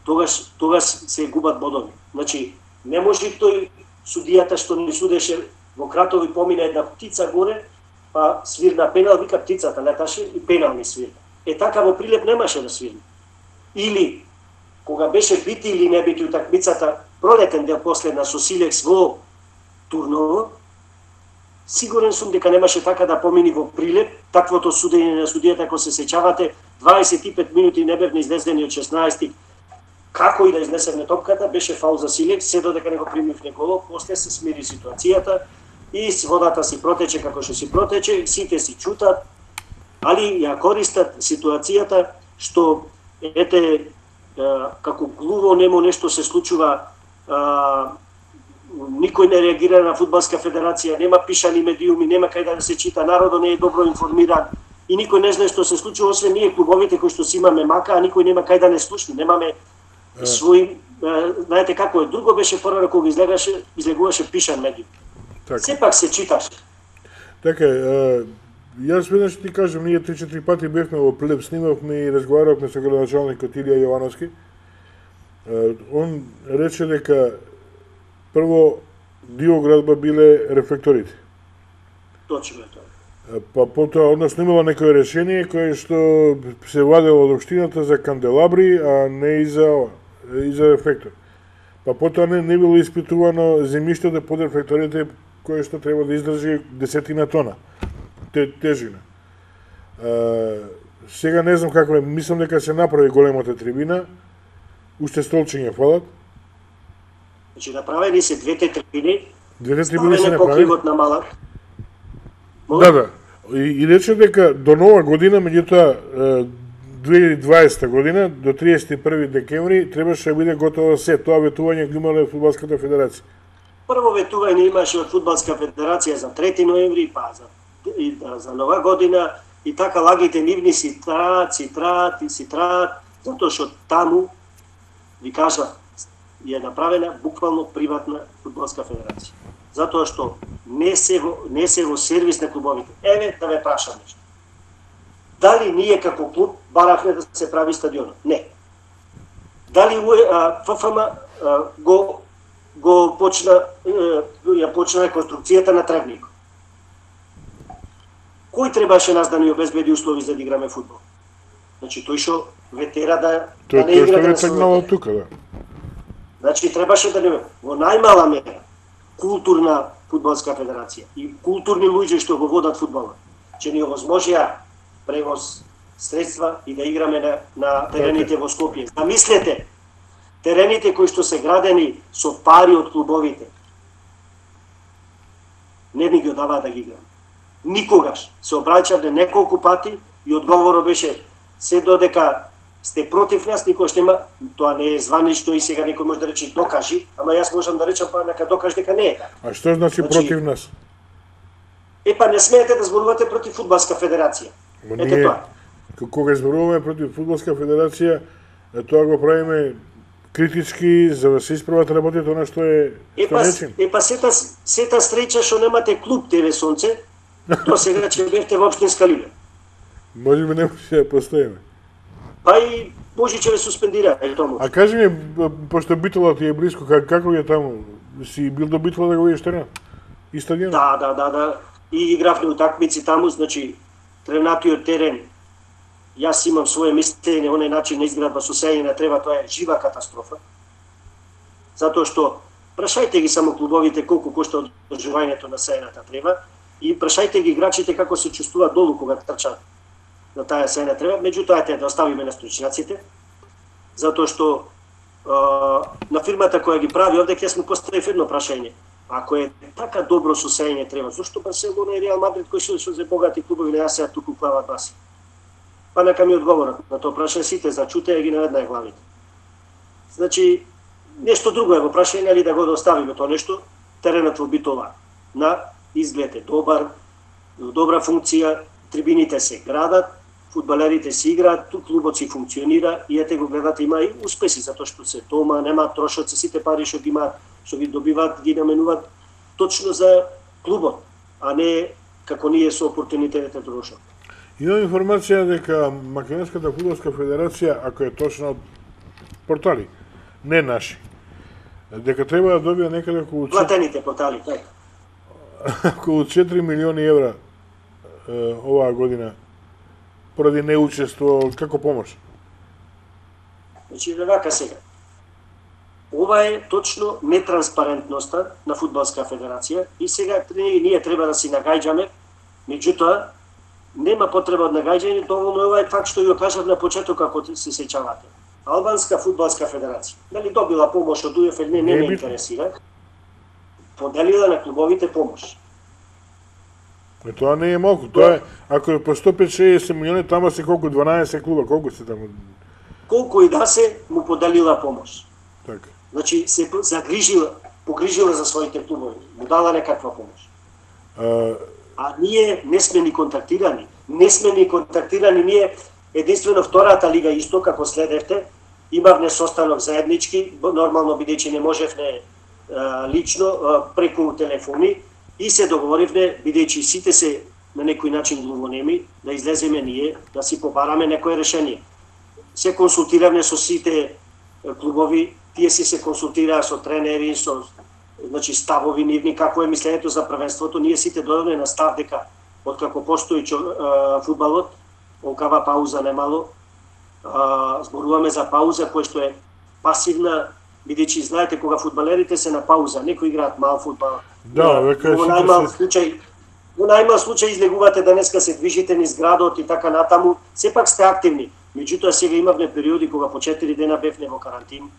Тогаш се губат бодови. Значи, не може тој судијата што ни судеше во Кратови помина една птица горе, па свирна пенал, вика птицата леташе и пенал ми свирна. Така во Прилеп немаше да свирна. Или, кога беше бити или не бити утакмицата, пролетен дел последна со Силекс во Турново, сигурен сум дека немаше така да помини во Прилеп, таквото судење на судијата, ако се сеќавате, 25 минути не бевме излездени од 16. Како и да изнесеме топката, беше фаул за Силекс, се додека не го примивне голов, после се смири ситуацијата и водата си протече како што си протече, сите си чутат, али ја користат ситуацијата што како глуво немо нешто се случува, никој не реагира на Фудбалска федерација, нема пишани медиуми, нема кај да се чита, народот не е добро информиран и никој не знае што се случува, освен ние клубовите кои што си имаме мака, а никој нема кај да не слушне, немаме свој, знаете како е, друго беше порано кога излегуваше пишан медиум. Сепак се читаше. Така, Јас веднаш ти кажам, ние 3-4 пати бевме во Плеб, снимавме и разговаравме со градоначалникот Илија Јовановски. Он рече дека прво диоградба биле рефлекторите. Точно е тоа. Па потоа, односно имало некој решение кое што се владело од општината за канделабри, а не и за рефлектор. Па потоа не било испитувано земјиштето под рефлекторите кое што треба да издржи 10 тона тежина. Сега не знам како е, мислам дека се направи големата трибина, уште столчиња фалат. Значи направени се двете трибини се направени. Покривот на малак. Да. И рече дека до нова година, меѓутоа 2020 година, до 31 декември, требаше да биде готово се. Тоа ветување го имале Фудбалската федерација. Прво ветување имаше од Фудбалска федерација за 3 ноември, па за нова година, и така лагите нивни си траат, затоа што таму, ви кажа, е направена буквално приватна Фудбалска федерација. Затоа што не се во сервис на клубовите. Еве да ве прашам нешто. Дали ние како клуб баравме да се прави стадионот? Не. Дали ФФМ го почна реконструкцијата на тревникот? Кој требаше нас да ни обезбеди услови за да играме фудбал? Значи тој што ветера да не игра да не тука, да. Значи требаше да не во најмала мера културна фудбалска федерација и културни луѓе што го водат фудбалот, че ни овозможија превоз средства и да играме на терените во Скопје. Замислете, терените кои што се градени со пари од клубовите, не ни ги одаваа да ги играме. Никогаш. Се обраќавме неколку пати и одговорот беше се додека сте против нас, никогаш нема, тоа не е званично и сега некој може да рече докажи, ама јас можам да речам па нека докаж дека не е така. А што значи против нас? Па не смеете да зборувате против Фудбалска федерација. Ете тоа. Кога зборуваме против Фудбалска федерација, тоа го правиме критички за да се исправат работите она што е начин. Сета среќа што немате клуб ТВ Сонце, до сега че бевте во општинска лига. Може би не може да постоиме. Па и може че ве суспендира, е тоа. А кажи ми, пошто Битола ти е близко, како е таму? Си бил до Битола да го видиш терен? И стадион? Да. И игравме утакмици таму, значи тренатиот терен. Јас имам свое мислење, оној начин на изградба со сење на трева, тоа е жива катастрофа. Затоа што прашајте ги само клубовите колку кошта одржувањето на сејната трева и прашајте ги играчите како се чувствуваат долу кога трчаат на таа сејна трева, меѓутоа да оставиме на стручњаците, затоа што на фирмата која ги прави овде ќе сме поставив едно прашање. Ако е така добро со сејање трева, зошто Барселона и Реал Мадрид кои се за богати клубови не јасеат туку клават баси? Па нека ми одговорат на тоа прашање, сите зачутеа ги наведнаа главите. Значи, нешто друго е во прашање, али да го оставиме тоа нешто, теренот во Битола на изглед е добар, добра функција, трибините се градат, фудбалерите си играат, клубот си функционира и ете го гледате, има и успеси, затоа што се дома, нема трошоци, сите пари што ги добиваат, ги наменуваат точно за клубот, а не како ние со опортунитетите трошат. Имам информација дека Македонската фудбалска федерација, ако е точно од портали, не наши, дека треба да добија некаде околу платените портали, така. Околу 4 милиони евра оваа година поради неучество како помош. Значи, вака сега. Ова е точно нетранспарентноста на Фудбалска федерација и сега ние треба да си нагаѓаме, меѓутоа нема потреба од нагаѓање, доволно е ова факт што ја кажав на почеток како се сеќавате. Албанска фудбалска федерација, дали добила помош од УЕФ или не ме интересира, поделила на клубовите помош. Тоа не е малку, тоа е, ако е по 150-60 милиони, тама се колку, 12 клуба, колку се таму? Колку и да се, му поделила помош. Така. Значи, се погрижила за своите клубови, му дала некаква помош. А ние не сме ни контактирани. Ние единствено втората лига исто, како следевте, имавме состанок заеднички, нормално бидејќи не можевме лично, преку телефони, и се договоривме, бидејќи сите се на некој начин глувонеми, да излеземе ние, да си побараме некое решение. Се консултиравме со сите клубови, тие си се консултираа со тренери, со ставови нивни, какво е мислењето за првенството. Ние сите дојдовме на став дека откако постои фудбалот, окава пауза немало, зборуваме за пауза која што е пасивна, бидејќи знаете кога фудбалерите се на пауза, некои играат мал фудбал. Да, века во најмал случај излегувате денеска, се движите низ градот и така натаму, сепак сте активни. Меѓутоа сега имавме периоди кога по 4 дена бевне во карантин.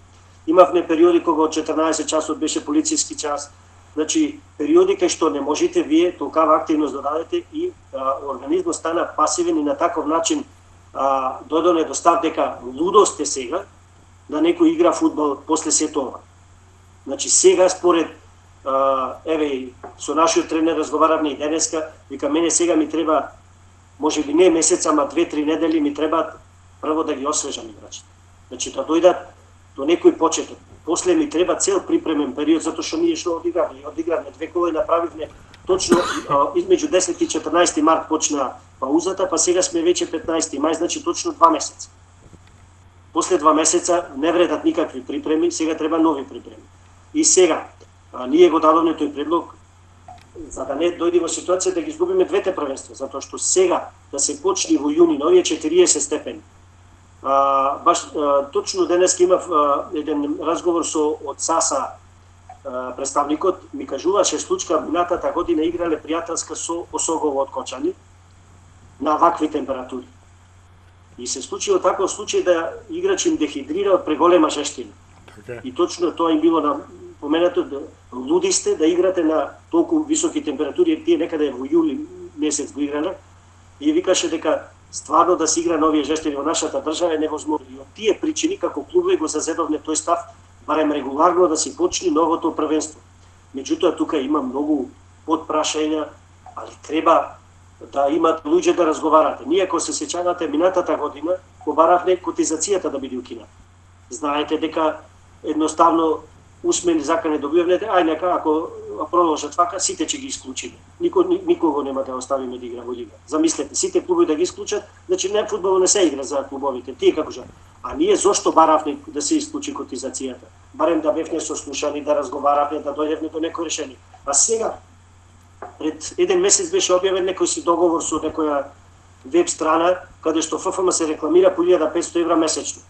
Имавме периоди кога од 14 часот беше полициски час. Значи, периоди кај што не можете вие толкава активност да дадете и организмот стана пасивен и на таков начин додоне до став дека лудост е сега да некој игра фудбал после сето ова. Значи, сега според со нашиот тренер разговаравме и денеска, вика мене сега ми треба, можеби не месец, ама 2-3 недели ми требаат прво да ги освежам играчите. Значи, да дојдат до некој почеток. После ми треба цел припремен период, затоа што ние што одигравме 2 кола и направивме точно измеѓу 10 и 14 март почна паузата, па сега сме веќе 15 мај, значи точно 2 месеца. После 2 месеца не вредат никакви припреми, сега треба нови припреми. И сега, ние го дадовме тој предлог, за да не дојде во ситуација да ги изгубиме двете првенства, затоа што сега да се почне во јуни на овие 40 степени. Точно денес имав еден разговор со од САСА представникот, ми кажуваше случка минатата година играле пријателска со Осогово од Кочани на вакви температури. И се случило таков случај да играч им дехидрира од преголема жештина. И точно тоа им било на поменато, луди сте да играте на толку високи температури, тие некаде во јули месец го играле, и викаше дека стварно да се игра на овие жештини во нашата држава е невозможно. И од тие причини како клубови го зазедовме тој став, барем регуларно да се почне новото првенство. Меѓутоа тука има многу подпрашања, али треба да имат луѓе да разговарате. Ние, ако се сеќавате, минатата година побаравме котизацијата да биде укината. Знаете дека едноставно усмени закани добиваме, ај нека ако продолжат вака, сите ќе ги исклучиме. Никого нема да оставиме да игра во лига. Замислете, сите клубови да ги исклучат, значи не фудбал не се игра за клубовите. Тие како жа. А ние зошто баравме да се исклучи котизацијата? Барем да бевне сослушани, да разговаравме, да дојдевме до некој решение. А сега пред еден месец беше објавен некој си договор со некоја веб страна каде што ФФМ се рекламира по 1500 евра месечно.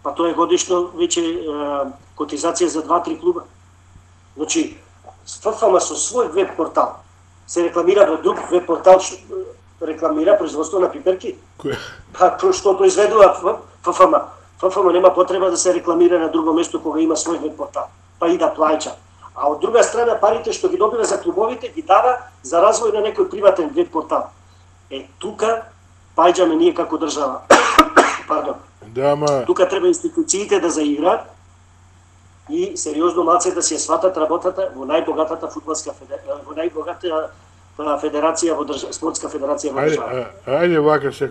Па тоа е годишно веќе котизација за 2-3 клуба. Значи, ФФМ со свој веб портал се рекламира во друг веб портал, рекламира производство на пиперки. Па што произведува ФФМ? ФФМ нема потреба да се рекламира на друго место кога има свој веб портал, па и да плаќа. А од друга страна парите што ги добива за клубовите ги дава за развој на некој приватен веб портал. Тука паѓаме ние како држава. Пардон. Да, ма... Тука треба институциите да заиграат и сериозно малце да се сватат работата во најбогатата фудбалска во најбогатата федерација во спортска федерација во држава. Ајде вака се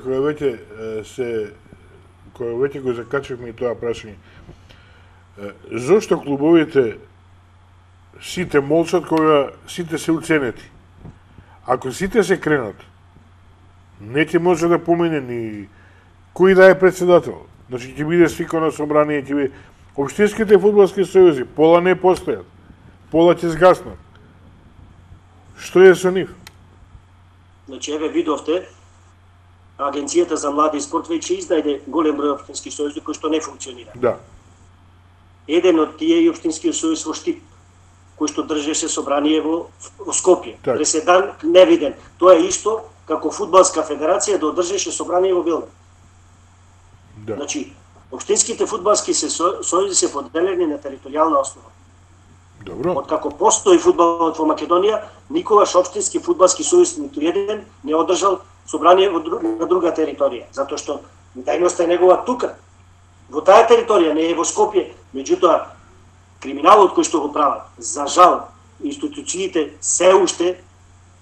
кој веќе го закачавме и тоа прашање. Зошто клубовите сите молчат кога сите се уценети? Ако сите се кренат, не ќе може да помине ни кој да е председател. Значи ќе биде свикано собрание, ќе биде општинските фудбалски сојузи, пола не постојат, пола ќе згаснат. Што е со нив? Значи еве видовте, Агенцијата за млади и спорт веќе издаде голем број општински сојузи кои што не функционира. Да. Еден од тие е општинскиот сојуз во Штип, кој што држеше собрание во Скопје. Так. Преседан невиден. Тоа е исто како фудбалска федерација да одржеше собрание во Белград. Да. Значи, општинските фудбалски сојузи се поделени на територијална основа. Добро. Откако постои фудбалот во Македонија, никогаш општински фудбалски сојуз ниту еден не одржал собрание на друга територија, затоа што дејноста е негова тука, во таа територија, не е во Скопје. Меѓутоа, криминалот кој што го прават, за жал, институциите се уште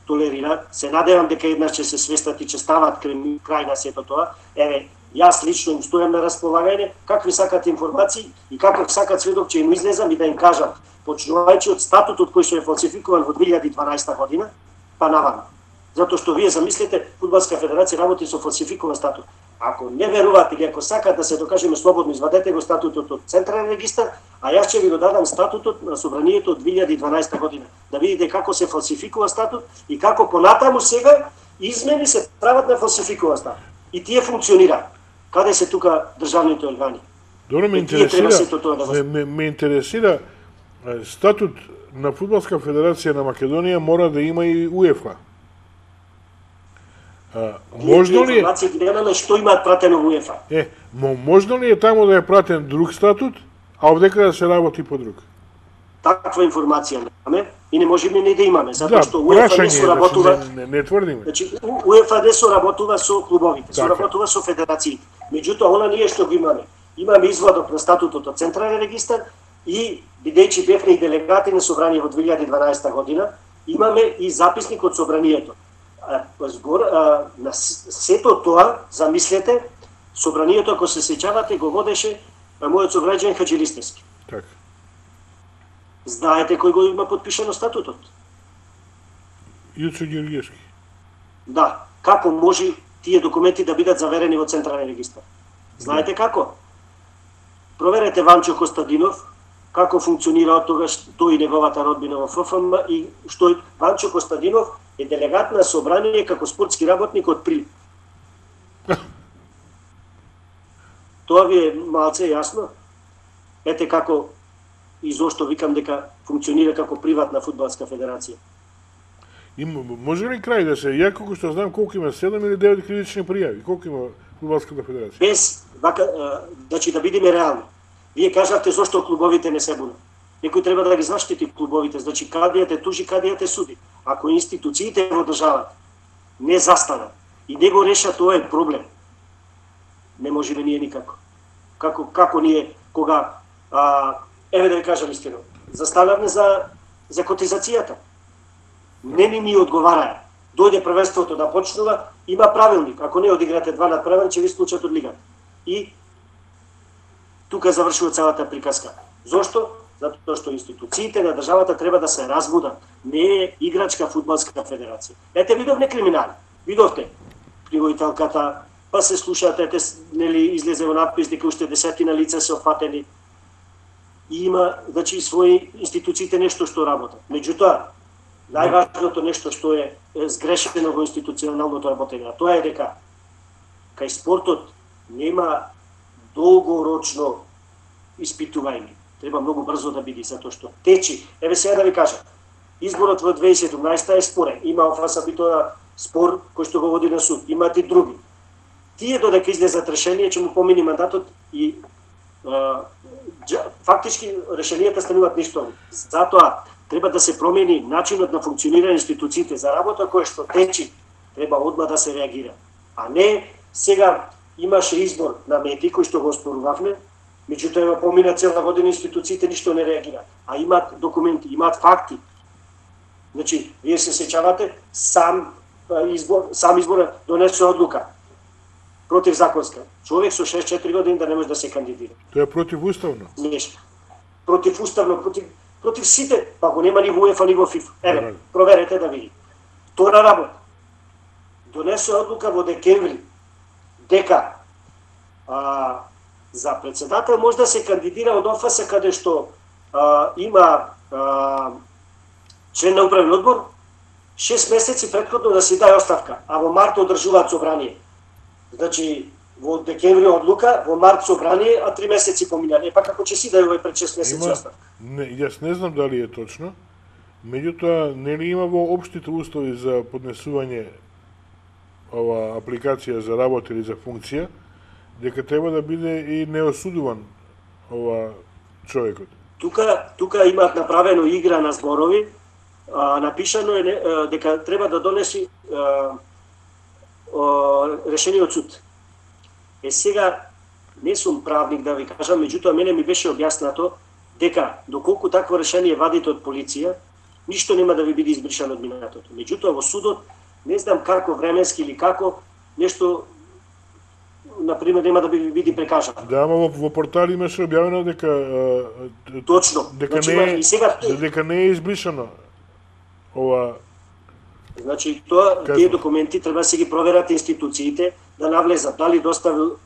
толерираат. Се надевам дека еднаш ќе се свестат и ќе стават крај на сето тоа. Еве, јас лично им стојам на располагање, какви сакат информации и каков сакат сведок ќе им излезам и да им кажам, почнувајќи од статутот кој што е фалсификуван во 2012 година, па наваму. Затоа што вие замислите, Фудбалска федерација работи со фалсификуван статут. Ако не верувате или ако сакате да се докажеме слободно, извадете го статутот од Централен регистар, а јас ќе ви го дадам статутот на собранието од 2012 година. Да видите како се фалсификува статут и како понатаму сега измени се прават на фалсификуван статут. И тие функционираат. Каде се тука државните органи? Добро, ме интересира статут на Фудбалска федерација на Македонија мора да има и УЕФА. Можно ли информација ги немаме што имаат пратено во УЕФА? Можно ли е таму да е пратен друг статут, а овдека да се работи по друг? Таква информација немаме и не можеме ни да имаме, затоа што УЕФА не соработува. Не тврдиме. Значи УЕФА не соработува со клубовите, соработува со федерациите. Меѓутоа она ние што го имаме, имаме извадок на статутот од Централен регистар и бидејќи бевме и делегати на собрание во 2012 година, имаме и записник од собранието. На сето тоа, замислете, собранието, ако се сеќавате, го водеше мојот сограѓанин Хаџилистевски. Така. Знаете кој го има подпишано статутот? Јуцо Ѓорѓевски. Да. Како може тие документи да бидат заверени во Централен регистар? Знаете како? Проверете Ванчо Костадинов, како функционира од тогаш тој и неговата родбина во ФФМ и што Ванчо Костадинов е делегат на собрание како спортски работник од Прилеп. Тоа ви е малце јасно? Ете како и зошто викам дека функционира како приватна фудбалска федерација. Може ли крај да се, ја колку што знам колку има 7 или 9 кривични пријави, колку има Фудбалската федерација? Без, значи да бидеме реални. Вие кажавте зошто клубовите не се бунат. Некој треба да ги заштити клубовите, значи кадијат е тужи, кадијат е суди. Ако институциите во државата не застанат и не го решат овој проблем, не можеме ние никако. Како ние кога еве да ви кажам истина, застанавме за котизацијата. Не ни одговараа. Дојде првенството да почнува, има правилник. Ако не одиграте 2 надпревар, ќе ви исклучат од лигата. И тука завршува целата приказка. Зошто? Затоа што институциите на државата треба да се разбудат. Не е играчка фудбалска федерација. Ете видовме криминали. Видовте привоителката, па се слушате, нели излезе во надпис дека уште 10 лица се опфатени. И има, значи, своји институциите нешто што работат. Меѓутоа, најважното нешто што е сгрешено во институционалното работење, тоа е дека кај спортот нема долгорочно испитување. Треба многу брзо да биде, затоа што течи. Еве сега да ви кажам, изборот во 2017 е спорен. Има ОФС тоа спор кој што го води на суд. Имате и други. Тие додека излезат решение ќе му помини мандатот и фактички решенијата стануваат ништови. Затоа треба да се промени начинот на функционирање институциите за работа која што течи. Треба одма да се реагира. А не сега имаше избор на медии кој што го оспорувавме, меѓутоа помина цела година институциите ништо не реагираат. А имаат документи, имаат факти. Значи, вие се сеќавате, сам избор донесе одлука противзаконска. Човек со 64 години да не може да се кандидира. Тоа е противуставно. Нешто. Противуставно, против сите, па го нема ни во УЕФА ни во ФИФА. Еве, проверете да види. Втора работа. Донесе одлука во декември дека за председател може да се кандидира од ОФС каде што има член на управен одбор 6 месеци претходно да си даде оставка, а во март одржуваат собрание. Значи, во декември одлука, во март собрание, а 3 месеци поминали. Па како ќе си даде овој пред 6 месеци оставка? Јас не знам дали е точно, меѓутоа нели има во општите услови за поднесување ова апликација за работа или за функција, дека треба да биде и неосудуван ова човекот. Тука имаат направено игра на зборови, напишано е дека треба да донеси решение од суд. Сега не сум правник да ви кажам, меѓутоа мене ми беше објаснато дека доколку такво решение вадите од полиција, ништо нема да ви биде избришано од минатото. Меѓутоа во судот не знам како временски или како нешто например нема да ви биде прекажано. Да, ама во портали имаше објавено дека точно, дека значи, не е, и сега дека не е избришано ова Значи, тие документи треба да се ги проверат институциите, да навлезат, дали доставил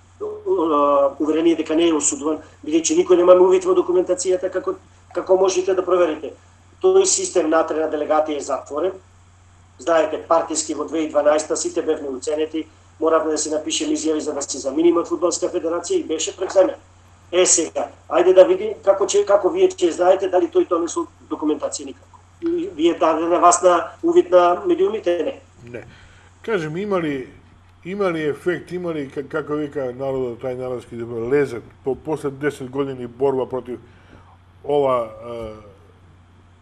уверение дека не е осудуван, бидејќи никој нема увид во документацијата како можете да проверите. Тој систем натре на делегатија е затворен. Знаете, партиски во 2012 сите бевме уценети, моравме да се напишеме изјави за да се замениме од Фудбалска федерација и беше преземен. Сега, ајде да видим како вие ќе знаете дали тој донесол документација никако. Вие даде на вас на увид на медиумите? Не. Не. Кажем, има ли ефект, има ли, како вика народот, тај народски лезет, после 10 години борба против ова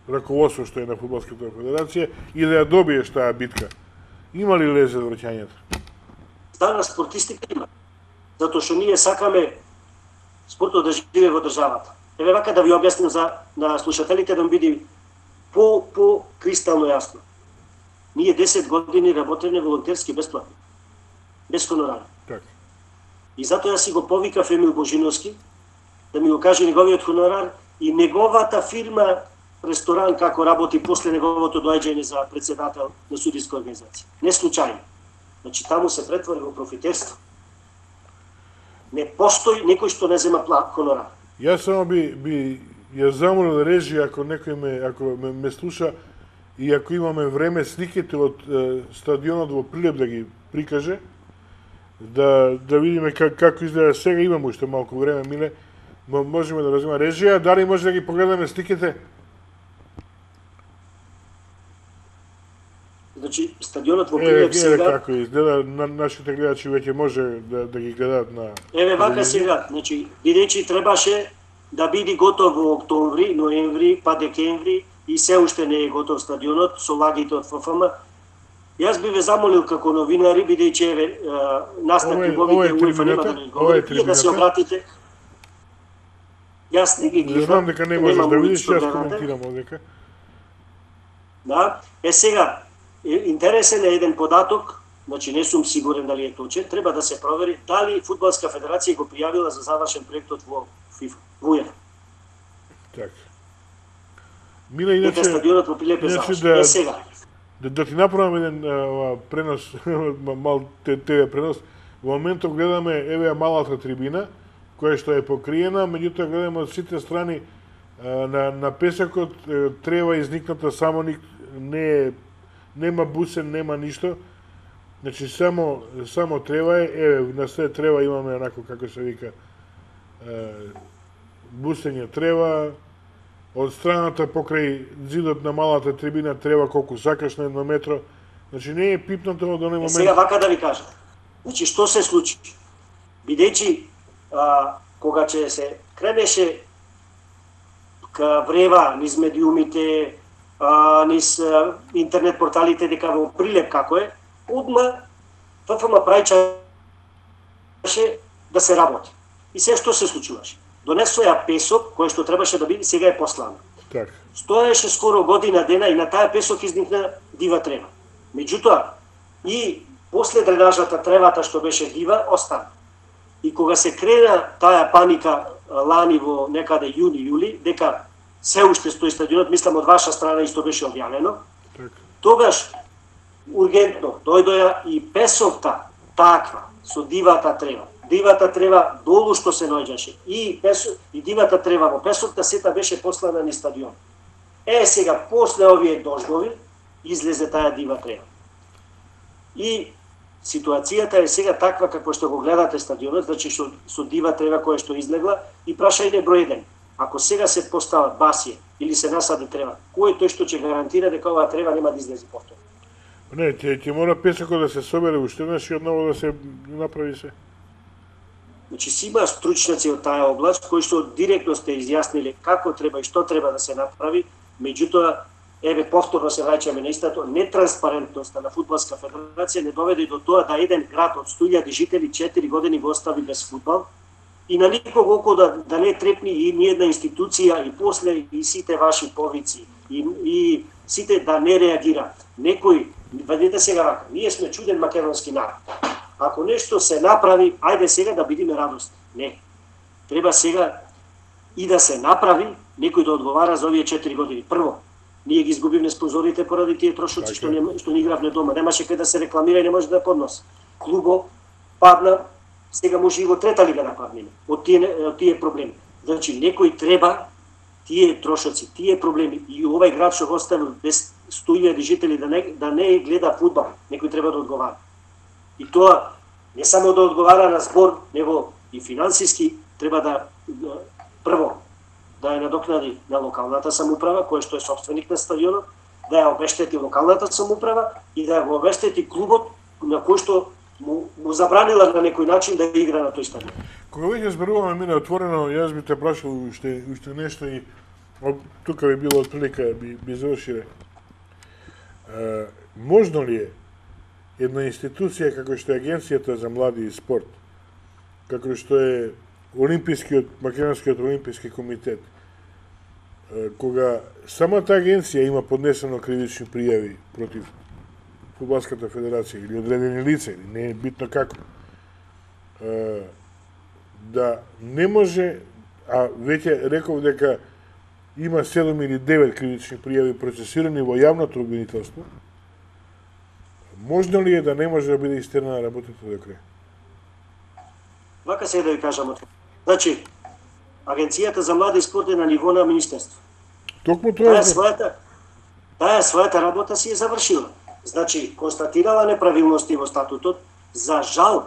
раководство што е на Фудбалската федерација и да ја добиеш таа битка? Има ли лезет враќањето? Дана спортистика има. Затоа што ние сакаме спортот да живее во државата. Еве вака да ви објасним на слушателите да биде по кристално јасно. Ние 10 години работеме волонтерски бесплатно. Без хонорар. Так. И затоа ја си го повикав Емил Божиновски да ми го каже неговиот хонорар и неговата фирма ресторан како работи после неговото доаѓање за председател на судиска организација. Не случајно. Значи таму се претвори во профитерство. Не постои некој што не зема хонорар. Јас само би ја замолил режија ако некој ме слуша и ако имаме време сликите од стадионот во Прилеп да ги прикаже, да видиме како изгледа сега, имаме уште малку време, Миле, можеме да разима режија, дали може да ги погледаме сликите? Значи, стадионот во Прилеп сега... како изгледа, нашите гледачи веќе може да ги гледаат на... Еве вака сега, значи, бидејќи требаше да биде готов во октомври, ноември, па декември и се уште не е готов стадионот со лагите од ФФМ. Јас би ве замолил како новинари, бидејќи еве настапи клубовите УЕФА нема да не говори, да се обратите. Јас не ги гледам. Знам дека не можеш да видиш, јас коментирам одека. Да, сега, интересен е еден податок, значи не сум сигурен дали е точен, треба да се провери дали Фудбалска федерација го пријавила за завршен проектот во ФИФА, во УЕФА. Така. Миле, иначе стадионот во Прилеп е завршен. Сега. Да ти направам еден пренос, мал ТВ пренос. Во моментот гледаме еве малата трибина, која што е покриена, меѓутоа гледаме од сите страни на песокот трева изникната само нема бусен, нема ништо. Значи само трева е, еве на сред трева имаме онако како се вика бусење трева, од страната покрај зидот на малата трибина трева колку сакаш на 1 метро. Значи не е пипнато од оној момент. Сега вака да ви кажам. Значи што се случи? Бидејќи кога ќе се кренеше ка врева низ медиумите, низ интернет порталите дека во Прилеп како е, одма ФФМ праќаше да се работи. И се што се случуваше? Донесоја песок, кој што требаше да биде, сега е послано. Так. Стоеше скоро година дена и на таа песок изникна дива трева. Меѓутоа, и после дренажата тревата што беше дива, остана. И кога се крена таа паника лани во некаде јуни-јули, дека се уште стои стадионот, мислам од ваша страна исто беше објавено, Так. тогаш ургентно дојдоја и песокта таква со дивата трева. Дивата трева долу што се наоѓаше и дивата трева во песокта сета беше послана низ стадион. Сега после овие дождови излезе таа дива трева. И ситуацијата е сега таква како што го гледате стадионот, значи со дива трева која што излегла и прашајте број 1. Ако сега се постават басие или се насади трева, кој е тој што ќе гарантира дека оваа трева нема да излезе повторно? Не, ќе мора песокот да се собере уште еднаш и одново да се направи се. Значи си има стручњаци од таа област кои што директно сте изјасниле како треба и што треба да се направи, меѓутоа еве повторно се враќаме на истото, нетранспарентноста на Фудбалска федерација не доведе до тоа да еден град од 100.000 жители 4 години го остави без фудбал и на никого око да не трепни и ни една институција и после и сите ваши повици и сите да не реагираат. Некој, видите сега вака, ние сме чуден македонски народ. Ако нешто се направи, ајде сега да бидиме радосни. Не. Треба сега и да се направи, некој да одговара за овие 4 години. Прво, Ние ги изгубивме спонзорите поради тие трошоци што не игравме дома. Немаше кај да се рекламира и не може да подноси. Клубо падна, сега може и во трета лига да падне од тие проблеми. Значи некој треба тие трошоци, тие проблеми и овај град што го оставил без 100.000 жители да не гледа фудбал, некој треба да одговара. И тоа не само да одговара на збор, него и финансиски треба да прво да ја надокнади на локалната самоуправа, која што е собственик на стадионот, да ја обештети локалната самоуправа и да го обештети клубот на кој што му забранила на некој начин да игра на тој стадион. Кога веќе зборуваме мине отворено, јас би те прашал уште нешто и тука би било отприлика би завршиле. Можно ли е една институција како што е Агенцијата за млади и спорт, како што е Македонскиот олимписки комитет, кога самата агенција има поднесено кривични пријави против Фудбалската федерација или одредени лица, или не е битно како, да не може, а веќе реков дека има 7 или 9 кривични пријави процесирани во јавното обвинителство, можно ли е да не може да биде истерана работата до крај? Вака се да ви кажам. Значи, Агенцијата за млади и спорт е на ниво на министерство. Токму тоа таа својата работа си е завршила. Значи, констатирала неправилности во статутот. За жал,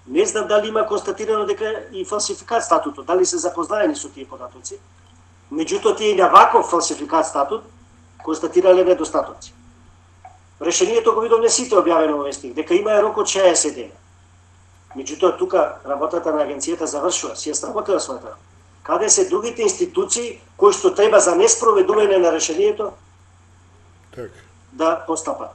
не знам дали има констатирано дека и фалсификат статутот, дали се запознаени со тие податоци. Меѓутоа, тие и на ваков фалсификат статут констатирале недостатоци. Решението го видовме сите објавено во вестник, дека има рок од 60 дена. Меѓутоа, тука работата на агенцијата завршува, си ја сработила својата работа. Каде се другите институции кои што треба за неспроведување на решението да постапат?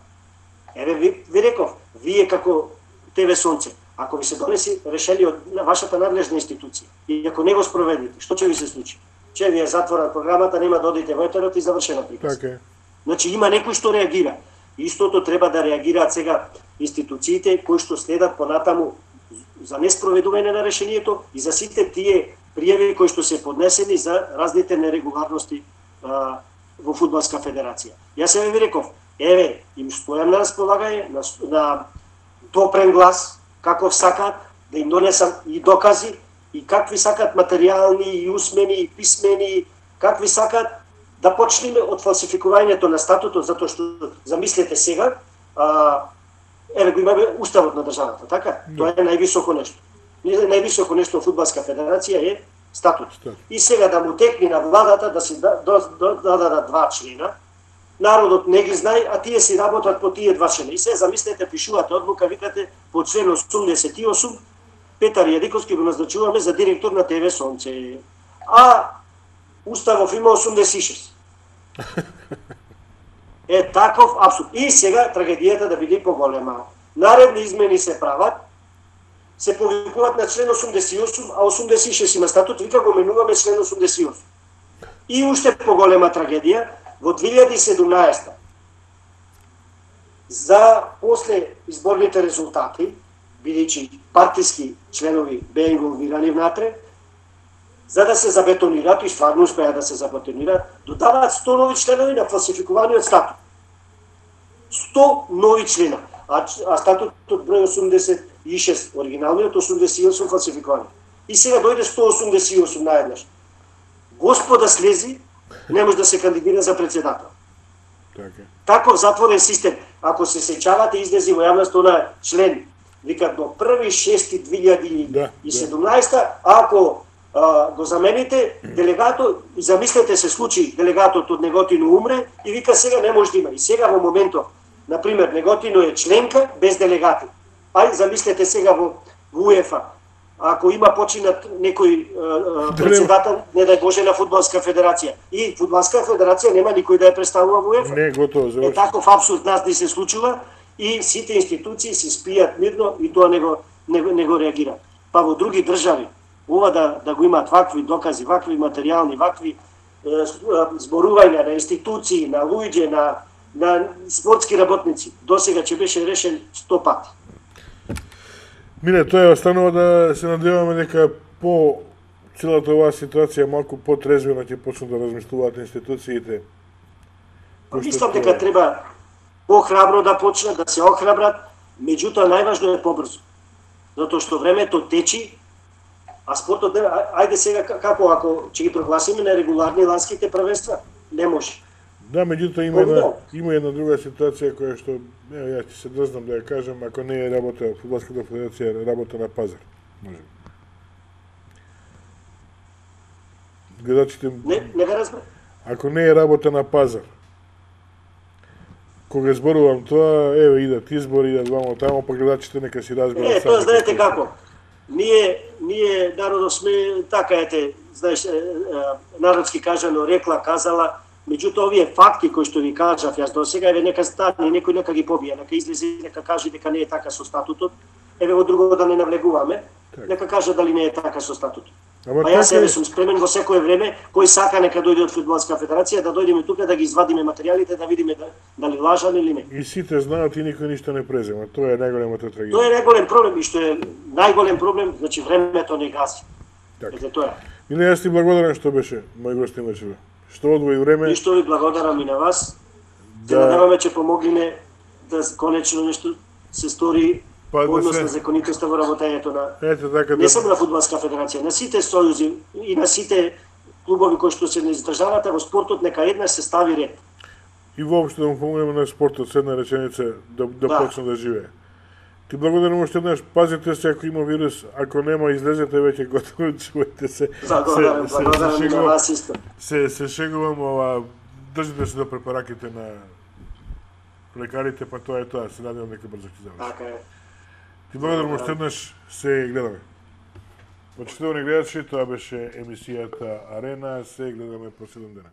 Еве ви реков, вие како ТВ Сонце, ако ви се донеси решение од вашата надлежна институција и ако не го спроведите, што ќе ви се случи? Че ви е затворена програмата, нема да одите во етерот и завршена приказка. Значи има некој што реагира. Истото треба да реагираат сега институциите кои што следат понатаму за неспроведување на решението и за сите тие пријави кои што се поднесени за разните нерегуларности во Фудбалска федерација. Јас ви реков, еве, им стојам на располагање на допрен глас, каков сакат, да им донесам и докази, и какви сакат материјални, и усмени, и писмени, какви сакат, да почнеме од фалсификувањето на статутот, затоа што, замислете сега, еве го имаме уставот на државата, така? Тоа е највисоко нешто. Највисоко нешто во Фудбалска федерација е статут. И сега да му текне на владата да се дадат 2 члена, народот не ги знае, а тие си работат по тие 2 члена. И се замислете, пишувате одлука, викате по член 88, Петар Јадиковски го назначуваме за директор на ТВ Сонце. А уставов има 86. Е таков абсурд. И сега трагедијата да биде поголема. Наредни измени се прават, се повикуваат на член 88, а 86 има статут, вика го менуваме член 88. И уште поголема трагедија, во 2017 за после изборните резултати, бидејќи партиски членови беа инволвирани внатре, за да се забетонираат и стварно успеа да се забетонираат, додаваат 100 нови членови на фалсификуваниот статут. 100 нови члена, а статутот број 86, оригиналниот 88 фалсификувани. И сега дојде 188 наеднаш. Господа слези, не може да се кандидира за председател. Таков затворен систем, ако се сеќавате, излези во јавност она член, викат до 1.6.2017, ако го замените, делегатот, замислете се случаи, делегатот од Неготино умре и вика сега не може да има. И сега во моментот, например, Неготино е членка без делегати. Ај замислете сега во УЕФА, ако има починат некој председател, не дај Боже, на Фудбалска федерација. И Фудбалска федерација нема никој да ја представува во УЕФА. Не, готово, заврши. Таков абсурд нас не се случува и сите институции се спијат мирно и тоа не го реагира. Па во други држави, ова да го имаат вакви докази, вакви материјални, вакви зборувања на институции, на луѓе, на спортски работници, досега ќе беше решен 100 пати. Мине, тоа останува да се надеваме дека по целата оваа ситуација малку потрезвено ќе почнат да размислуваат институциите Мислам дека треба похрабро да почнат, да се охрабрат, меѓутоа најважно е побрзо. Затоа што времето течи, а спортот, ајде сега како ако ќе ги прогласиме на регуларни ланските првенства, не може. Да, меѓутоа има една друга ситуација која што, ја ќе се дрзнам да ја кажам, ако не е работа Фудбалската федерација, работа на пазар, може. Гледачите... Не ве разбрав. Ако не е работа на пазар, кога зборувам тоа, еве идат избори, идат вамо тамо, па гледачите нека си разберат. Тоа знаете како. Ние народот сме така знаеш, народски кажано, рекла, казала, меѓутоа овие факти кои што ви кажав јас до сега, еве нека стане, некој нека ги побие, нека излезе, нека каже дека не е така со статутот. Еве во друго да не навлегуваме, нека каже дали не е така со статутот. А јас еве сум спремен во секое време, кој сака нека дојде од Фудбалска федерација, да дојдеме тука да ги извадиме материјалите, да видиме дали лажат или не. И сите знаат и никој ништо не презема. Тоа е најголемата трагедија. Тоа е најголем проблем и што е најголем проблем, значи времето не гази. Ете тоа. Миле, јас ти благодарам што беше мој гостин вечерва. Што одвои време. И што ви благодарам и на вас. Се надеваме ќе помогнеме да конечно нешто се стори однос на законитоста во работењето на не само на Фудбалска федерација, на сите сојузи и на сите клубови кои што се не издржавате во спортот, нека еднаш се стави ред. И воопшто да му помогнеме на спортот, с една реченица да почне да живее. Ти благодарам уште еднаш, пазите се ако има вирус, ако нема излезете веќе готово, чувате се. Благодарам на вас исто. Се шегувам, држите се до препараките на лекарите, па тоа е тоа, се надевам дека брзо ќе заврши. Така е. Ти благодарам уште еднаш, се гледаме. Почитувани гледачи, тоа беше емисијата Арена, се гледаме по 7 дена.